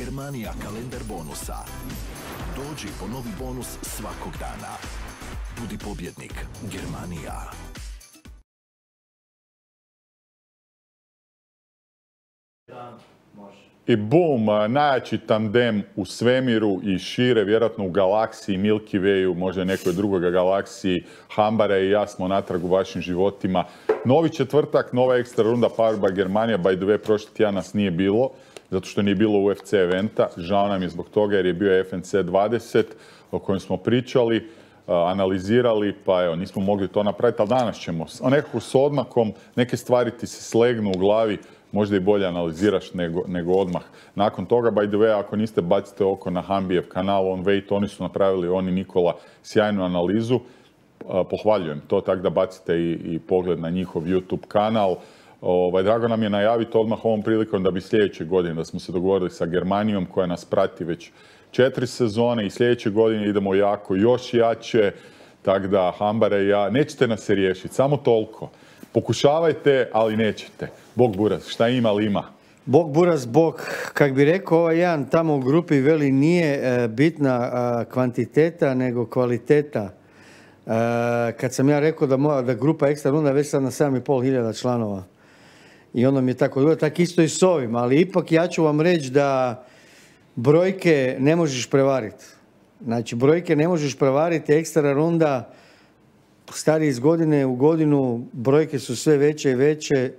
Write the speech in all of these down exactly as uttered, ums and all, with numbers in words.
Germania kalendar bonusa. Dođi po novi bonus svakog dana. Budi pobjednik. Germania. I bum, najjači tandem u svemiru i šire, vjerojatno u galaksiji, Milky Wayu, možda nekoj drugoj galaksiji. Hambara i ja smo natrag u vašim životima. Novi četvrtak, nova ekstra runda Powered by Germania. By the way, prošli tjedan nas nije bilo, zato što nije bilo U F C eventa. Žao nam je zbog toga jer je bio F N C dvadeset o kojem smo pričali, analizirali, pa evo, nismo mogli to napraviti, ali danas ćemo. Nekako s odmakom, neke stvari ti se slegnu u glavi, možda i bolje analiziraš nego, nego odmah. Nakon toga, by the way, ako niste, bacite oko na Hambijev kanal On Wait, oni su napravili, oni Nikola, sjajnu analizu. Pohvaljujem to, tako da bacite i, i pogled na njihov YouTube kanal. Ovaj, drago nam je najaviti odmah ovom prilikom da bi sljedeće godine, da smo se dogovorili sa Germanijom koja nas prati već četiri sezone i sljedeće godine idemo jako, još jače, tako da Hambara i ja, nećete nas se riješiti, samo toliko. Pokušavajte, ali nećete. Bog buraz, šta ima li ima? Bog buraz, Bog. Kak bi rekao, ovaj jedan tamo u grupi veli nije e, bitna a, kvantiteta, nego kvaliteta. E, kad sam ja rekao da, moja, da grupa ekstra runda već sad na sedam i pol hiljada članova. I ono mi je tako dobro, tako isto i s ovim. Ali ipak ja ću vam reći da brojke ne možeš prevariti. Znači, brojke ne možeš prevariti, ekstra runda stari iz godine u godinu, brojke su sve veće i veće.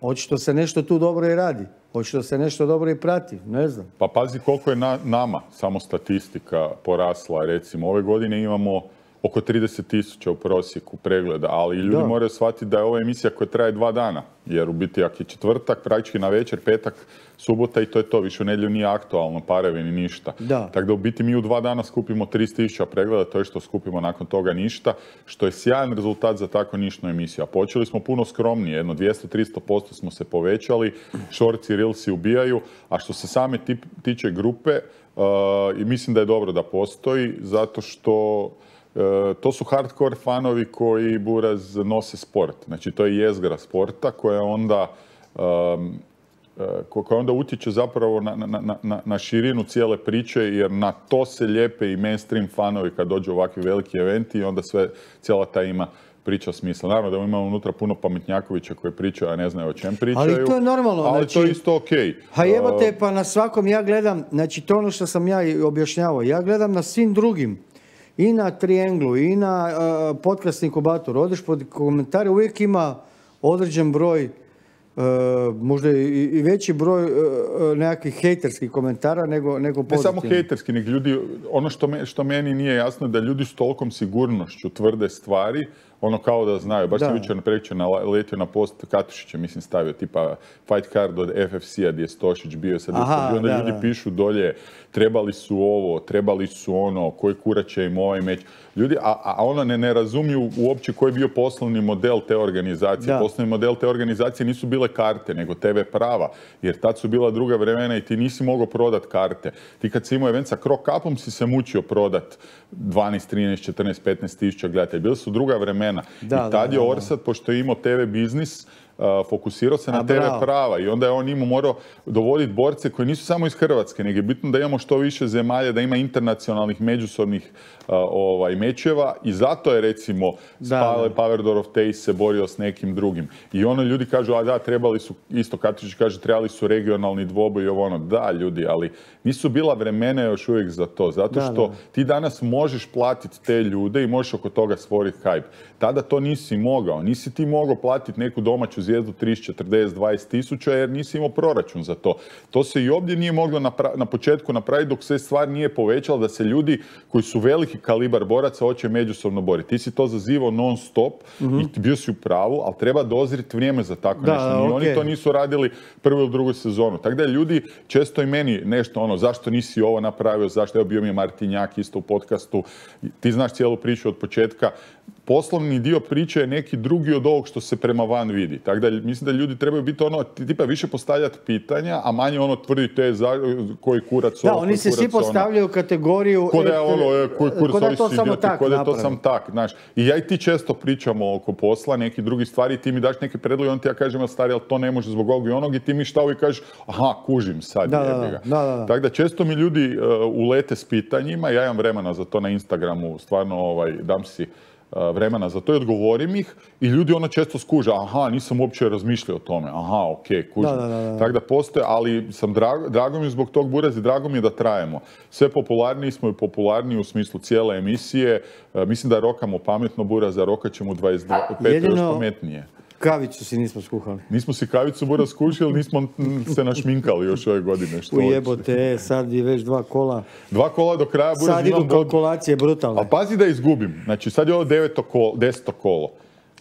Očito se nešto tu dobro i radi. Očito se nešto dobro i prati, ne znam. Pa pazi koliko je na, nama samo statistika porasla. Recimo, ove godine imamo oko trideset tisuća u prosjeku pregleda, ali ljudi da. moraju shvatiti da je ova emisija koja traje dva dana. Jer u biti, ako je četvrtak, praktički na večer, petak, subota i to je to. Više u nedjelju nije aktualno, parevi ni ništa. Da. Tako da u biti mi u dva dana skupimo trideset tisuća pregleda, to je što skupimo nakon toga ništa, što je sjajan rezultat za tako nišnu emisiju. A počeli smo puno skromnije, jedno dvjesto do tristo posto smo se povećali, shorts i reelsi ubijaju, a što se same tip, tiče grupe, uh, i mislim da je dobro da postoji, zato što E, to su hardcore fanovi koji buraz nose sport. Znači, to je jezgra sporta koja onda, um, koja onda utječe zapravo na, na, na, na širinu cijele priče, jer na to se lijepe i mainstream fanovi kad dođu ovakvi veliki eventi i onda sve, cijela ta ima priča smisla. Naravno da imamo unutra puno pametnjakovića koji pričaju, a ne znaju o čem pričaju. Ali to je normalno. Ali znači, to je isto okej. Okay. Ha evo te, pa na svakom ja gledam, znači to ono što sam ja objašnjavao, ja gledam na svim drugim. I na Trianglu, i na uh, podcast inkubatoru. Odeš pod komentare, uvijek ima određen broj, uh, možda i, i veći broj uh, nekakvih hejterskih komentara nego, nego pozitivnih. Ne samo hejterski, nego ljudi, ono što, me, što meni nije jasno da ljudi s tolikom sigurnošću tvrde stvari, ono kao da znaju. Baš sam jučer prekjučer naletio na post Katušića, mislim stavio tipa fight card od F F C-a gdje je Stošić bio sad. Aha, onda da, ljudi da. pišu dolje, trebali su ovo, trebali su ono, koji kurac će im ovaj meč. Ljudi, a, a ono ne, ne razumiju uopće koji je bio poslovni model te organizacije. Da. Poslovni model te organizacije nisu bile karte, nego T V prava. Jer tad su bila druga vremena i ti nisi mogao prodat karte. Ti kad si imao event sa Croc Cupom si se mučio prodat dvanaest, trinaest, četrnaest, petnaest tisuća gledatelja. Bili su druga vremena. Da, I tad da, je Orsat, pošto je imao T V biznis, uh, fokusirao se na A, T V bravo. prava i onda je on imao morao dovoditi borce koji nisu samo iz Hrvatske, nego je bitno da imamo što više zemalja, da ima internacionalnih međusobnih uh, ovaj, mečeva i zato je recimo Spale, Power of Taste se borio s nekim drugim. I ono ljudi kažu, a da, trebali su, isto Katičić kaže, trebali su regionalni dvoboj i ovo ono. Da, ljudi, ali nisu bila vremena još uvijek za to. Zato da, što da. ti danas možeš platiti te ljude i možeš oko toga stvoriti hype. Tada to nisi mogao. Nisi ti mogao platiti neku domaću zvijezdu trideset, četrdeset, dvadeset tisuća jer nisi imao proračun za to. To se i ovdje nije moglo napra- na početku napraviti dok se stvar nije povećala da se ljudi koji su veliki kalibar boraca hoće međusobno boriti. Ti si to zazivao non stop mm-hmm. i bio si u pravu, ali treba dozriti vrijeme za tako da, nešto. Ni okay. Oni to nisu radili prvu ili drugu sezonu. Tako da ljudi često i meni nešto ono, zašto nisi ovo napravio, zašto, evo bio mi je Martinjak isto u podcastu, ti znaš cijelu priču od početka. poslovni dio priče je neki drugi od ovog što se prema van vidi. Tako da mislim da ljudi trebaju biti ono, tipa više postavljati pitanja, a manje ono tvrditi te za, koji kurac da, ovo, oni se svi postavljaju u kategoriju... Ko da je ono, e, koji kurac ko da ovi to su samo idioti, tak ko da je to napravi. sam tak, znaš. I ja i ti često pričamo oko posla, neki drugi stvari, ti mi daš neke predloge, on ti ja kažem, ali stari, ali to ne može zbog ovog i onog, i ti mi šta uvijek kažeš, aha, kužim sad, da, jebi ga. Da, da, da. Tako da često mi ljudi uh, ulete s pitanjima, ja imam vremena za to na Instagramu, stvarno ovaj, dam si vremena za to i odgovorim ih i ljudi ono često skuže, aha, nisam uopće razmišljao o tome, aha, ok, kužim. Da, da, da, da. Tako da postoje, ali sam drago, drago mi je zbog tog Buraz i drago mi je da trajemo. Sve popularniji smo i popularniji u smislu cijele emisije. E, mislim da rokamo pametno Buraz, a rokat ćemo dvadeset pet Jedino... još pametnije. Kavicu si nismo skuhali. Nismo si kavicu Buraz skušali, nismo se našminkali još ove godine. Što Ujebote, sad je već dva kola. Dva kola do kraja Buraz. Sad idu kalkulacije brutalne. Ali pazi da izgubim. Znači sad je ovo deveto kolo, deseto kolo.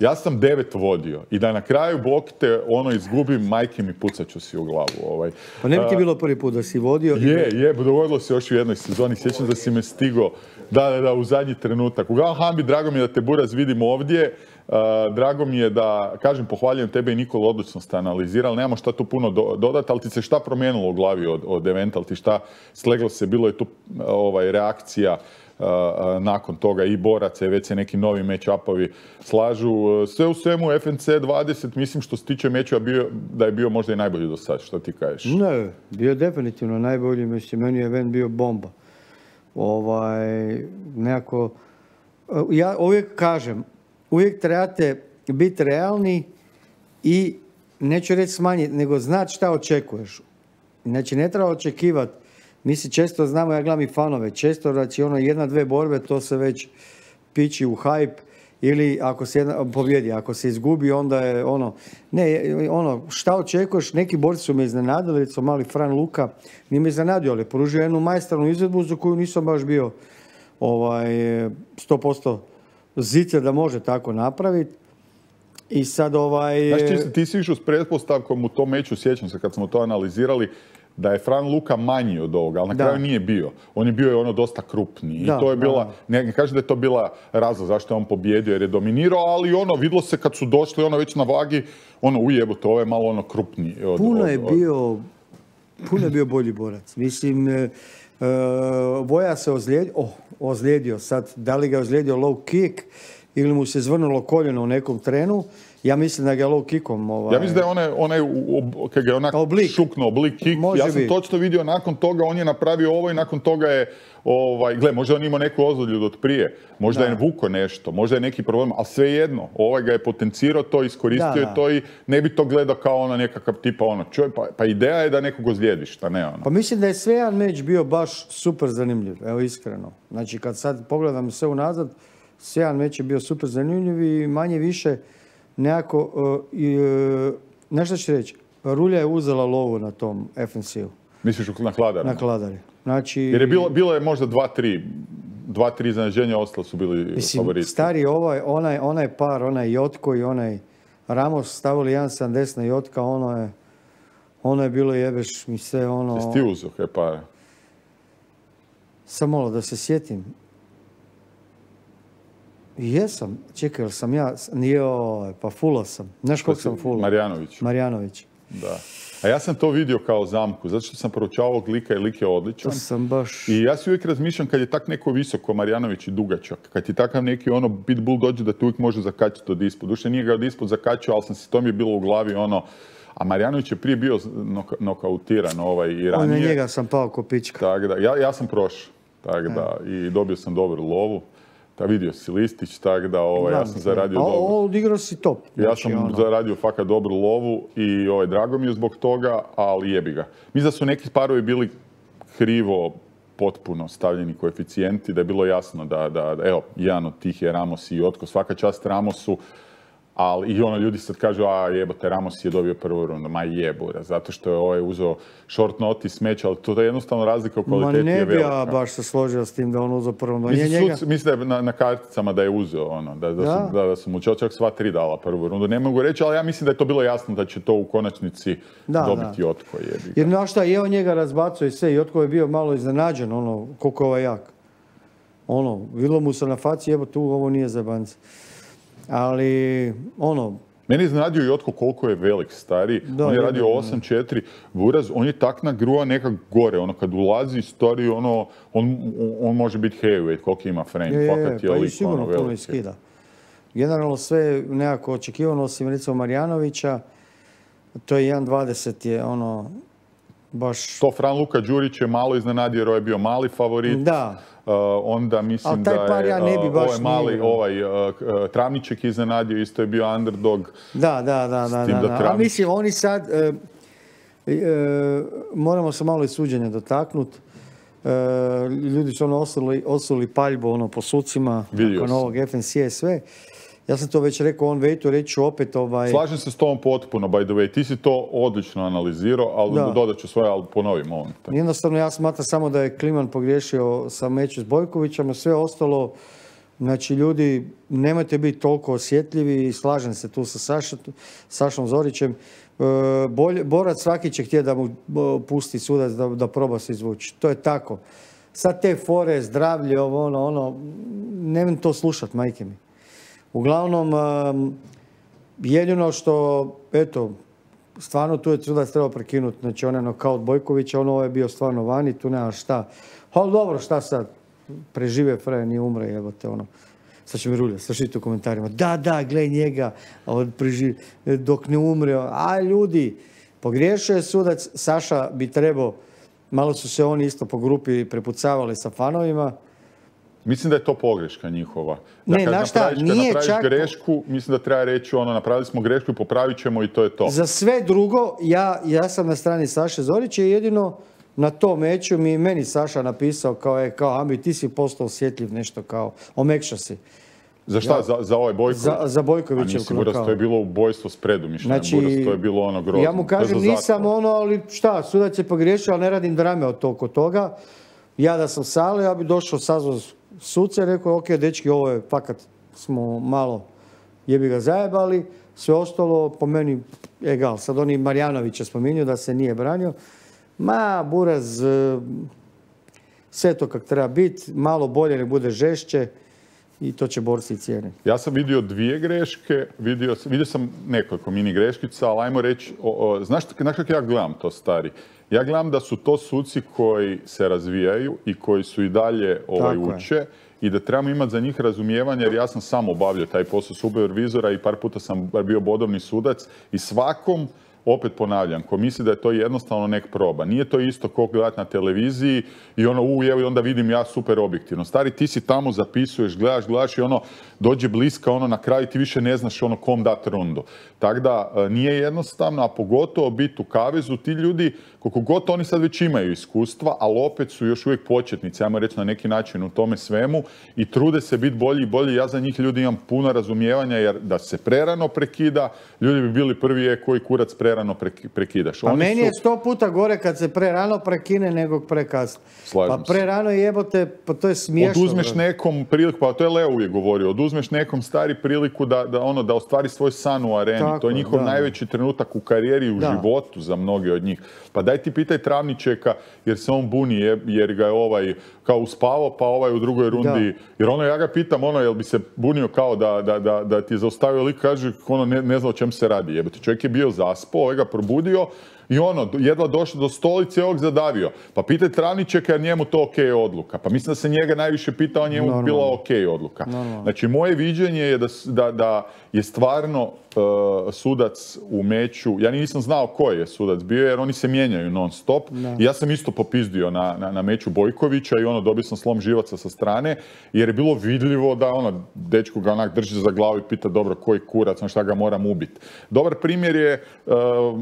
Ja sam devet vodio i da na kraju blokite ono izgubim, majke mi pucat ću si u glavu. Ovaj. Pa ne bi ti bilo prvi put da si vodio? Je, je, dogodilo se još u jednoj sezoni. Sjećam da si me stigo, da, da, da, u zadnji trenutak. Uglavnom, Hambi, drago mi je da te Buraz vidimo ovdje. Uh, drago mi je da, kažem, pohvaljujem tebe i Nikola, odlično ste analizirali, nemamo šta tu puno do, dodati, ali ti se šta promijenilo u glavi od, od eventa, ali ti šta sleglo se, bilo je tu ovaj, reakcija uh, nakon toga i boraca i već se neki novi match-upovi slažu. Sve u svemu F N C dvadeset, mislim što se tiče mečeva bio, da je bio možda i najbolji do sad, što ti kažeš? Ne, bio je definitivno najbolji, mislim, meni je event bio bomba. Ovaj, nekako, ja uvijek kažem, uvijek trebate biti realni i, neću reći smanjiti, nego znati šta očekuješ. Znači, ne treba očekivati. Mi si često znamo, ja gledam i fanove, često da će ono jedna, dve borbe, to se već piči u hype, ili ako se jedna, pobjedi, ako se izgubi, onda je ono, ne, ono, šta očekuješ, neki borci su me iznenadili, recimo mali Fran Luka, nije me iznenadio, ali pružio jednu majstornu izvedbu za koju nisam baš bio ovaj, sto posto zice da može tako napraviti. I sad ovaj... Znaš, ti, ti si išao s pretpostavkom u tom meču, sjećam se kad smo to analizirali, da je Fran Luka manji od ovoga, ali na da. kraju nije bio. On je bio je ono dosta krupniji. I da, to je bila, da. ne kažem da je to bila razlog zašto je on pobjedio jer je dominirao, ali ono, vidlo se kad su došli ono već na vagi, ono ujebote, ovo je malo ono krupniji. Od, puno je od, od... bio, puno je bio bolji borac. Mislim, e, e, Voja se ozlijedio, oh, ozlijedio sad, da li ga je ozlijedio low kick ili mu se zvrnulo koljeno u nekom trenu. Ja mislim da ga je low kickom... Ovaj... Ja mislim da je onaj, onaj kad ga je onak oblik. šuknuo, oblik kick. Može ja sam biti. točno vidio nakon toga, on je napravio ovo i nakon toga je, ovaj, gle, možda on imao neku ozljedu od prije, možda da. je vuko nešto, možda je neki problem, ali svejedno, ovaj ga je potencirao to, iskoristio da, je da. to i ne bi to gledao kao ona nekakav tipa ono, čuj, pa, pa ideja je da nekog ozlijediš, šta ne ono. Pa mislim da je sve jedan meč bio baš super zanimljiv, evo iskreno. Znači kad sad pogledam sve unazad, sve jedan meč je bio super zanimljiv i manje više nekako, uh, uh, nešto ću reći, Rulja je uzela lovu na tom F N C-u. Misliš na Kladari? Na Kladari. Znači... Jer je bilo, bilo je možda dva, tri, dva, tri iznenađenja, ostalo su bili mislim, favoriti. Stari ovaj, onaj, onaj par, onaj Jotko i onaj Ramos stavili jedan sedamdeset na Jotka, ono je, ono je bilo jebeš mi se ono... Jesi ti uzeo kaj pare? Samo malo da se sjetim. Jesam, čekaj, jel sam ja, nije, pa fulo sam. Znaš koliko sam fulo? Marjanović. Marjanović. Da. A ja sam to vidio kao zamku, zato što sam proučavao ovog lika i lik je odličan. To sam baš... I ja si uvijek razmišljam kad je tak neko visoko, Marjanović i dugačak, kad ti takav neki ono pitbull dođe da te uvijek može zakačiti od ispod. Duše nije ga od ispod zakačio, ali sam si, to mi je bilo u glavi ono... A Marjanović je prije bio noka, nokautiran ovaj, i ranije. On na njega sam pao ko pička. Tak da, ja, ja sam prošao, tak da, i dobio sam dobru lovu. Da, vidio si listić, tako da ovaj, ja sam zaradio a, dobro. A odigrao si top. Ja Znači, sam ono... zaradio fakat dobru lovu i ovaj, drago mi je zbog toga, ali jebi ga. Mislim da su neki parovi bili krivo potpuno stavljeni koeficijenti, da je bilo jasno da, da, da evo, jedan od tih je Ramos i Jotko, svaka čast Ramosu, ali i ono, ljudi sad kažu, a jebote, Ramos je dobio prvu rundu, ma jebura, zato što je ovaj uzeo short notice meč, ali to je jednostavno razlika u kvaliteti je velika. Ma ne bi ja baš se složio s tim da on uzeo prvu rundu. Mislim, njega... mislim da je na, na karticama da je uzeo, ono, da, da, da? Su, da, da su mu čak sva tri dala prvu rundu. Ne mogu reći, ali ja mislim da je to bilo jasno da će to u konačnici da, dobiti da. Jotko. Jebi. Jer znaš šta, je on njega razbacao i sve, Jotko je bio malo iznenađen, ono, koliko je ovaj jak. Ono, vidlo mu se na faci, evo tu, ovo nije za banci. ali ono... Meni je iznenadio Jotko koliko je velik, stari. Da, on je je, radio osam četiri, Buraz, on je tak nagruva nekak gore. Ono, kad ulazi stari, ono, on, on može biti heavyweight, koliko ima frame. Je, je, fakat je pa i lik, sigurno ono, puno veliki. iskida. Generalno sve nekako očekivano, osim recimo Marjanovića, to je jedan dvadeset je ono, baš... To Fran Luka Đurić je malo iznenadio jer je bio mali favorit. Da. Uh, onda mislim Ali taj da par je ja ne bi baš ovaj mali, nije. ovaj uh, uh, Travniček iznenadio, isto je bio underdog. Da, da, da, da, tim da, da da. A Travnić- mislim, oni sad, e, e, moramo se malo i suđenja dotaknuti. E, ljudi su ono osuli, osuli paljbu ono, po sucima, Vidio nakon sam. ovog F N C sve. Ja sam to već rekao on vejtu, reći ću opet ovaj... Slažem se s tom potpuno, by the way. Ti si to odlično analizirao, ali Da. dodat ću svoje, ali ponovim ovo. Jednostavno ja smatram samo da je Kliman pogriješio sa meču s Bojkovićem, a sve ostalo, znači ljudi, nemojte biti toliko osjetljivi i slažem se tu sa Saša, Sašom Zorićem. E, bolje, borac svaki će htjeti da mu e, pusti sudac da, da proba se izvući. To je tako. Sad te fore, zdravlje, ovo, ono, ono, nemam to slušat, majke mi. Uglavnom, um, jedino što, eto, stvarno tu je sudac trebao prekinuti, znači on je nokaut Bojkovića, ono je bio stvarno vani, tu nema šta. Ali dobro, šta sad, prežive Freja, nije umre, jebote, ono. Sad će mi rulja, slušajte u komentarima, da, da, gledaj njega, on preživi, dok ne umre. A ljudi, pogriješio je sudac, Saša bi trebao, malo su se oni isto po grupi prepucavali sa fanovima. Mislim da je to pogreška njihova. Da Ne, kad znaš šta, napraviš, kad nije napraviš čak- grešku, mislim da treba reći ono, napravili smo grešku i popravit ćemo i to je to. Za sve drugo, ja, ja sam na strani Saše Zorića i jedino na tom meču mi meni Saša napisao kao, je, kao Ambi, ti si postao osjetljiv nešto kao, omekša si. Za šta? Ja- Za, za ovaj Bojković? Za, za A Bojkovićev nisi Buras, to je bilo ubojstvo s predumišljajem. Znači, Buras, to je bilo ono grozno. ja mu To je kažem za nisam zatvor. ono, ali šta, sudac je pogriješio, ali ne radim drame od toliko toga. Ja da sam sale, ja bi došao, sazvao suce i rekao, ok, dečki, ovo je, fakat smo malo jebi ga zajebali, sve ostalo po meni egal. Sad oni Marjanovića spominju da se nije branio. Ma, Buraz, e, sve to kak treba biti, malo bolje ne bude žešće i to će borci cijeniti. Ja sam vidio dvije greške, vidio, sam- vidio sam nekoliko mini greškica, ali ajmo reći, o, o, znaš, znaš kako ja gledam to, stari? Ja gledam da su to suci koji se razvijaju i koji su i dalje ovaj, Tako je. uče i da trebamo imati za njih razumijevanje, jer ja sam sam obavljao taj posao supervizora i par puta sam bar bio bodovni sudac i svakom, opet ponavljam, ko misli da je to jednostavno nek proba. Nije to isto ko gledati na televiziji i ono, u, evo, i onda vidim ja super objektivno. Stari, ti si tamo, zapisuješ, gledaš, gledaš i ono, dođe bliska, ono, na kraju ti više ne znaš ono kom dat rundu. Tako da, e, nije jednostavno, a pogotovo biti u kavezu, ti ljudi, koliko god oni sad već imaju iskustva, ali opet su još uvijek početnici, ajmo reći na neki način u tome svemu i trude se biti bolji i bolji. Ja za njih ljudi imam puno razumijevanja, jer da se prerano prekida, ljudi bi bili prvi je koji kurac prerano preki- prekidaš. A Oni meni su- je sto puta gore kad se pre rano prekine nego prekasno. Slažem Pa se. pre rano jebote, pa to je smiješno. Oduzmeš brate. nekom priliku, pa to je Leo uvijek govorio, oduzmeš nekom stari priliku da, da, ono, da ostvari svoj san u areni. Tako to je je, njihov da. najveći trenutak u karijeri i u Da. životu za mnoge od njih. Pa daj ti pitaj Travničeka jer se on buni je- jer ga je ovaj kao uspavao, pa ovaj u drugoj rundi. Da. Jer ono, ja ga pitam, ono, jel bi se bunio kao da, da, da, da ti je zaustavio lik, kaže, ono, ne, ne zna o čem se radi. Jebote, čovjek je bio zaspao, ovaj ga probudio i ono, jedva došao do stolice i ovog zadavio. Pa pitaj Travničeka jer njemu to ok odluka. Pa mislim da se njega najviše pitao, njemu Normalno. bila ok odluka. Normalno. Znači, moje viđenje je da, s- da, da je stvarno uh, sudac u meču, ja nisam znao koji je sudac bio jer oni se mijenjaju non stop. I ja sam isto popizdio na, na, na meču Bojkovića i ono, dobio sam slom živaca sa strane jer je bilo vidljivo da ono, dečko ga onak drži za glavu i pita dobro koji kurac, on šta ga moram ubiti. Dobar primjer je, uh,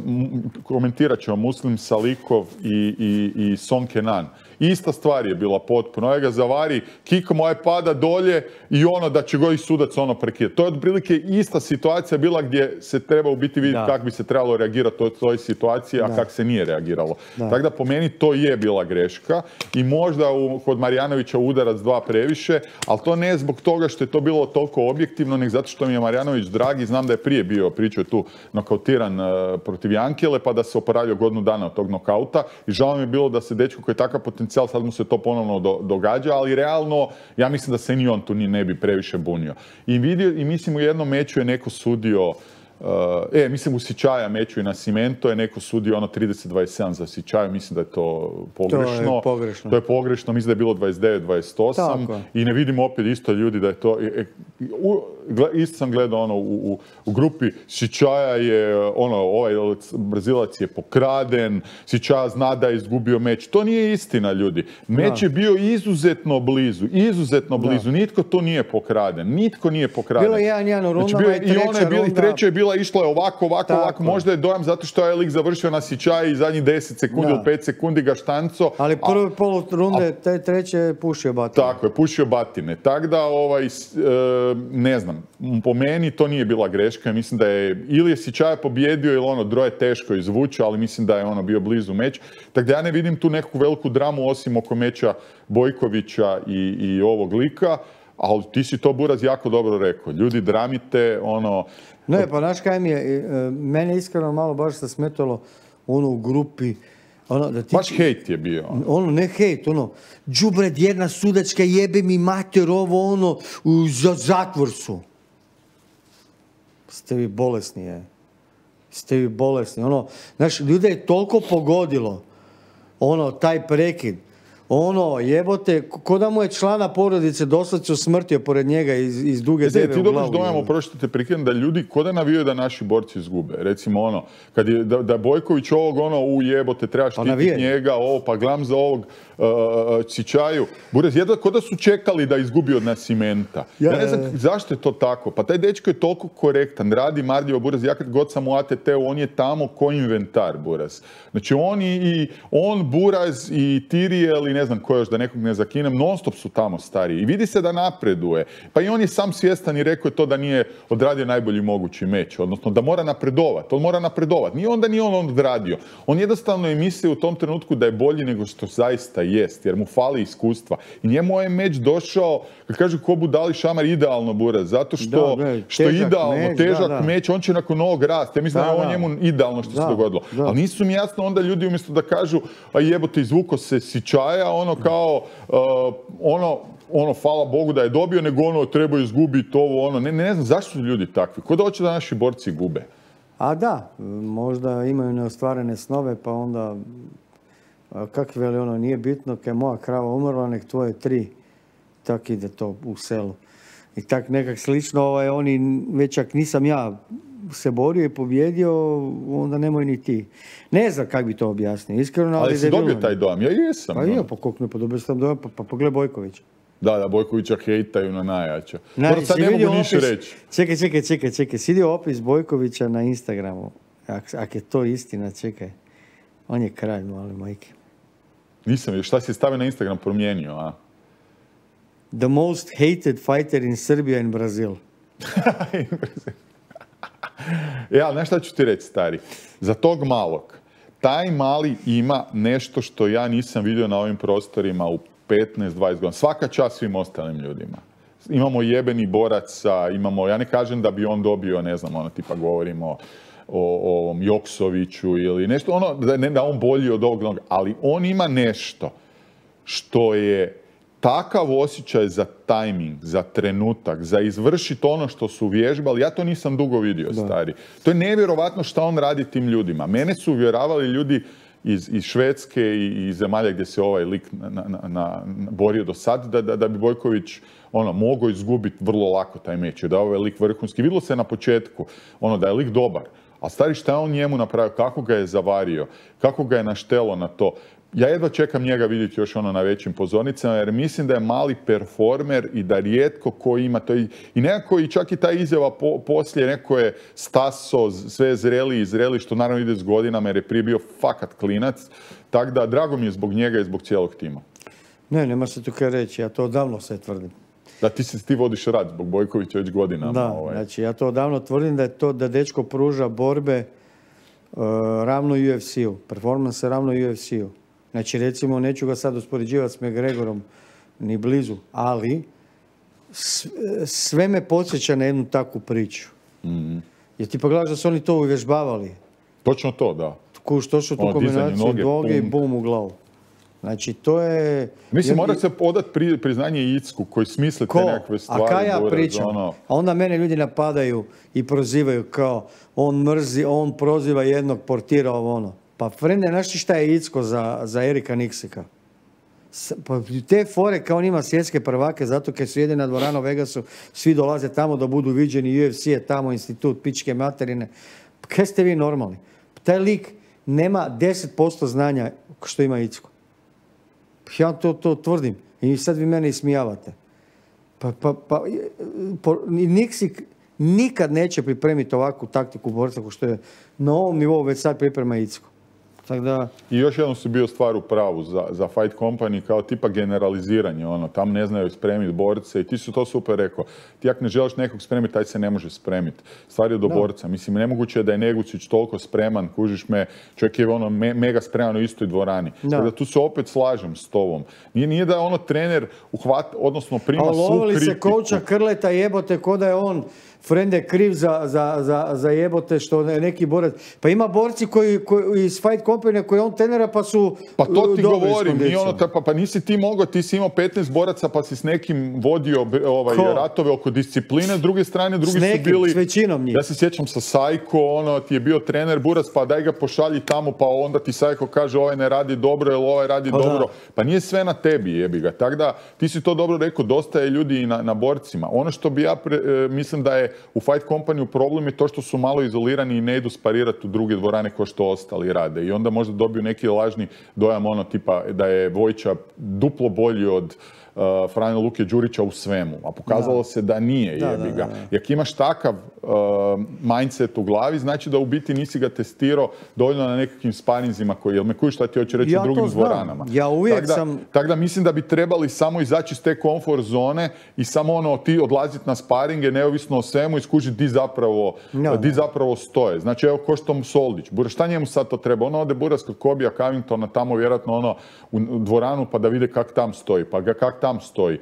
m- komentirat ćemo Muslim Salikov i, i, i Son Kenan. Ista stvar je bila potpuno. Ovaj ga zavari, kikom ovaj pada dolje i ono da će go i sudac ono prekidati. To je otprilike ista situacija bila gdje se treba u biti vidjeti Da. kako bi se trebalo reagirati u toj situaciji, a Da. kako se nije reagiralo. Da. Tako da po meni to je bila greška i možda u, kod Marjanovića udarac dva previše, ali to ne zbog toga što je to bilo toliko objektivno, nego zato što mi je Marjanović dragi, znam da je prije bio, pričao je tu, nokautiran uh, protiv Jankele, pa da se oporavio godinu dana od tog nokauta i žao mi je bilo da se dečko koji je takav potencijal, sad mu se to ponovno do, događa, ali realno ja mislim da se ni on tu ni ne bi previše bunio. I, vidio, i mislim u jednom meču je neko sudio, Uh, e, mislim u Sičaja meču i na Cimento je neko sudio ono trideset dvadeset sedam za Sičaju, mislim da je to pogrešno. To je pogrešno. To je pogrešno, mislim da je bilo dvadeset devet dvadeset osam i ne vidimo opet isto ljudi da je to... E, u, gle, isto sam gledao ono u, u, u grupi Sičaja je ono, ovaj Brazilac je pokraden, Sičaja zna da je izgubio meč. To nije istina, ljudi. Meč da. je bio izuzetno blizu, izuzetno blizu. Da. Nitko to nije pokraden, nitko nije pokraden. Bilo je jedan jedan u rundama znači, i treća runda. I treća je bila išlo je ovako, ovako, Tako. ovako. Možda je dojam zato što je lik završio na Sičaji i zadnjih deset sekundi ili pet sekundi ga štanco. Ali prve polu runde, te treće je pušio batine. Tako je, pušio batine. Tako da, ovaj, ne znam, po meni to nije bila greška. Mislim da je, ili je Sičaja pobjedio, ili ono, droje teško izvuče, ali mislim da je ono bio blizu meč. Tako da ja ne vidim tu neku veliku dramu osim oko meča Bojkovića i, i ovog lika. Ali ti si to, Buraz, jako dobro rekao. Ljudi, dramite, ono... Ne, pa znaš kaj mi je, mene iskreno malo baš se smetalo ono u grupi, ono da ti... Baš hejt je bio. Ono, ono ne hejt, ono, đubred jedna sudačka, jebe mi mater, ovo ono, u, za zatvor su. Ste vi bolesni, je. Ste vi bolesni, ono, znaš, ljude je toliko pogodilo, ono, taj prekid. Ono, jebote, ko da mu je člana porodice doslovce usmrtio pored njega iz, iz duge deve u glavu. Ti dobiš dojam, oprosti te prekidam, da ljudi ko da navijaju da naši borci izgube. Recimo ono, kad je, da, da Bojković ovog ono, u jebote, treba štititi njega, ovo, pa gledam za ovog uh, Sičaju. Buraz, jedva ko da su čekali da izgubi od nas Cimenta. Ja, ja ne znam zašto je to tako. Pa taj dečko je toliko korektan, radi marljivo, Buraz, ja kad god sam u A T T-u, on je tamo ko inventar, Buraz. Znači on i, i on, Buraz i Tirijel i ne znam ko još, da nekog ne zakinem, non stop su tamo stariji. I vidi se da napreduje. Pa i on je sam svjestan i rekao je to da nije odradio najbolji mogući meč. Odnosno da mora napredovati. On mora napredovati. Nije onda nije on odradio. On jednostavno je mislio u tom trenutku da je bolji nego što zaista jest. Jer mu fali iskustva. I njemu je meč došao, kad kažu ko budali šamar, idealno, Buraz. Zato što, da, ne, što idealno, meč, težak da, da. meč, on će nakon novog rasta. Ja mislim da, da je on njemu idealno što da, se dogodilo. Da. Ali nisu mi jasno onda ljudi umjesto da kažu, a jebote, izvuko se Sičaja, ono kao, uh, ono, ono, hvala Bogu da je dobio, nego ono, treba izgubiti ovo, ono, ne, ne znam zašto su ljudi takvi, ko da hoće da naši borci gube? A da, možda imaju neostvarene snove, pa onda, kak veli ono, nije bitno, kad je moja krava umrla, nek tvoje tri, tak ide to u selu. I tak nekak slično, ovaj, oni, već ak nisam ja se borio i pobjedio, onda nemoj ni ti. Ne znam kako bi to objasnio, iskreno. Ali, ali si dobio taj dojam, ja jesam. Pa ja, pa koliko ne podobio sam dojam, pa, pa pogledaj Bojkovića. Da, da, Bojkovića hejtaju na najjača. Znači, sad ne mogu ništa reći. Čekaj, čekaj, čekaj, čekaj, sidi opis Bojkovića na Instagramu. Ak, ak je to istina, čekaj. On je kralj, mali majke. Nisam još, šta si stavio na Instagram promijenio, a? The most hated fighter in Serbia and Brazil. Ja, znaš šta ću ti reći, stari? Za tog malog, taj mali ima nešto što ja nisam vidio na ovim prostorima u petnaest dvadeset godina. Svaka čast svim ostalim ljudima. Imamo jebeni boraca, imamo, ja ne kažem da bi on dobio, ne znam, ono, tipa govorimo o, o Joksoviću ili nešto, ono, da, ne, da on bolji od ovog, ali on ima nešto što je takav osjećaj za tajming, za trenutak, za izvršiti ono što su vježbali, ja to nisam dugo vidio, da. Stari. To je nevjerovatno šta on radi tim ljudima. Mene su uvjeravali ljudi iz, iz Švedske i iz zemalja gdje se ovaj lik na, na, na, na, borio do sad, da, da, da bi Bojković ono, mogao izgubiti vrlo lako taj meč, da je ovaj lik vrhunski. Vidjelo se na početku ono, da je lik dobar, a stari šta je on njemu napravio, kako ga je zavario, kako ga je naštelo na to. Ja jedva čekam njega vidjeti još ono na većim pozornicama, jer mislim da je mali performer i da rijetko ko ima to. I, i nekako i čak i ta izjava po, poslije, neko je staso, sve zreli i zreli, što naravno ide s godinama, jer je prije bio fakat klinac. Tako da, drago mi je zbog njega i zbog cijelog tima. Ne, nema se tu kaj reći, ja to odavno se tvrdim. Da, ti se ti vodiš rad zbog Bojkovića već godinama. Da, ovaj. Znači ja to odavno tvrdim da je to da dečko pruža borbe uh, ravno U F C-u, performance ravno U F C-u. Znači, recimo, neću ga sad uspoređivati s McGregorom, ni blizu, ali sve me podsjeća na jednu takvu priču. Mm-hmm. Jer ti pogledaš da su oni to uvježbavali. Točno to, da. Kuš, to su tu Ono, dizanje kombinaciju noge, noge i punk. bum u glavu. Znači, to je... Mislim, Ja- mora se odat pri, priznanje Icku koji smisle te Ko? nekakve stvari. A kaj ja Borac, pričam? ono. A onda mene ljudi napadaju i prozivaju kao on mrzi, on proziva jednog portira ovo ono. Pa frende, znaš ti šta je Icko za, za Erika Niksika? S- Pa te fore kao on ima svjetske prvake zato kad su jedina dvorana u Vegasu, svi dolaze tamo da budu viđeni, U F C je tamo, institut pičke materine. Pa kaj ste vi normalni? Taj lik nema deset posto znanja što ima Icko. Ja to, to tvrdim. I sad vi mene ismijavate. Pa, pa, pa, po, Niksik nikad neće pripremiti ovakvu taktiku borca kao što je na ovom nivou već sad priprema Icko. Tako da... I još jednom si bio stvar u pravu za, za Fight Company kao tipa generaliziranje, ono, tam ne znaju spremiti borce i ti su to super rekao. Ti ako ne želiš nekog spremiti, taj se ne može spremiti. Stvar je do Da. borca. Mislim, nemoguće je da je Negucić toliko spreman, kužiš me, čovjek je ono me- mega spreman u istoj dvorani. Da. Tako da tu se opet slažem s tobom. Nije, nije da je ono trener uhvat, odnosno prima A svu lovili se kritiku. kouča Krleta jebote ko da je on frende kriv za, za, za, za jebote što ne- neki borac. Pa ima borci koji, koji iz Fight Company koji on trenera pa su Pa to ti dobri s govorim, nije kondicijom. ono, ta- pa, pa nisi ti mogao, ti si imao petnaest boraca pa si s nekim vodio be- ovaj, Ko? ratove oko discipline, s druge strane drugi S nekim, su bili... s većinom njih. Ja se sjećam sa Sajko, ono, ti je bio trener Burac, pa daj ga pošalji tamo, pa onda ti Sajko kaže ovaj ne radi dobro, ili ovaj radi Pa da. dobro. Pa nije sve na tebi, jebi ga. Tako da, ti si to dobro rekao, dosta je ljudi i na, na borcima. Ono što bi ja pre- e, mislim da je u Fight Company problem je to što su malo izolirani i ne idu sparirati u druge dvorane kao što ostali rade. I onda možda dobiju neki lažni dojam ono tipa da je Vojča duplo bolji od uh, Franje Luke Đurića u svemu. A pokazalo Da. se da nije, Da, jebi da, ga. da, da. I ako imaš takav uh, mindset u glavi, znači da u biti nisi ga testirao dovoljno na nekakvim sparinzima koji, jel me kužiš šta ti hoće reći Ja u drugim to znam. dvoranama. Ja uvijek Tak da, sam- Tako da mislim da bi trebali samo izaći iz te komfort zone i samo ono ti odlaziti na sparinge neovisno o svemu i skužiti di zapravo, Ja, di da. zapravo stoje. Znači evo ko što mu Soldić. Bura, šta njemu sad to treba? Ono ode Buras kod Kobija Covingtona tamo vjerojatno ono u u dvoranu pa da vide kak tam stoji, pa ga kak tam stoji.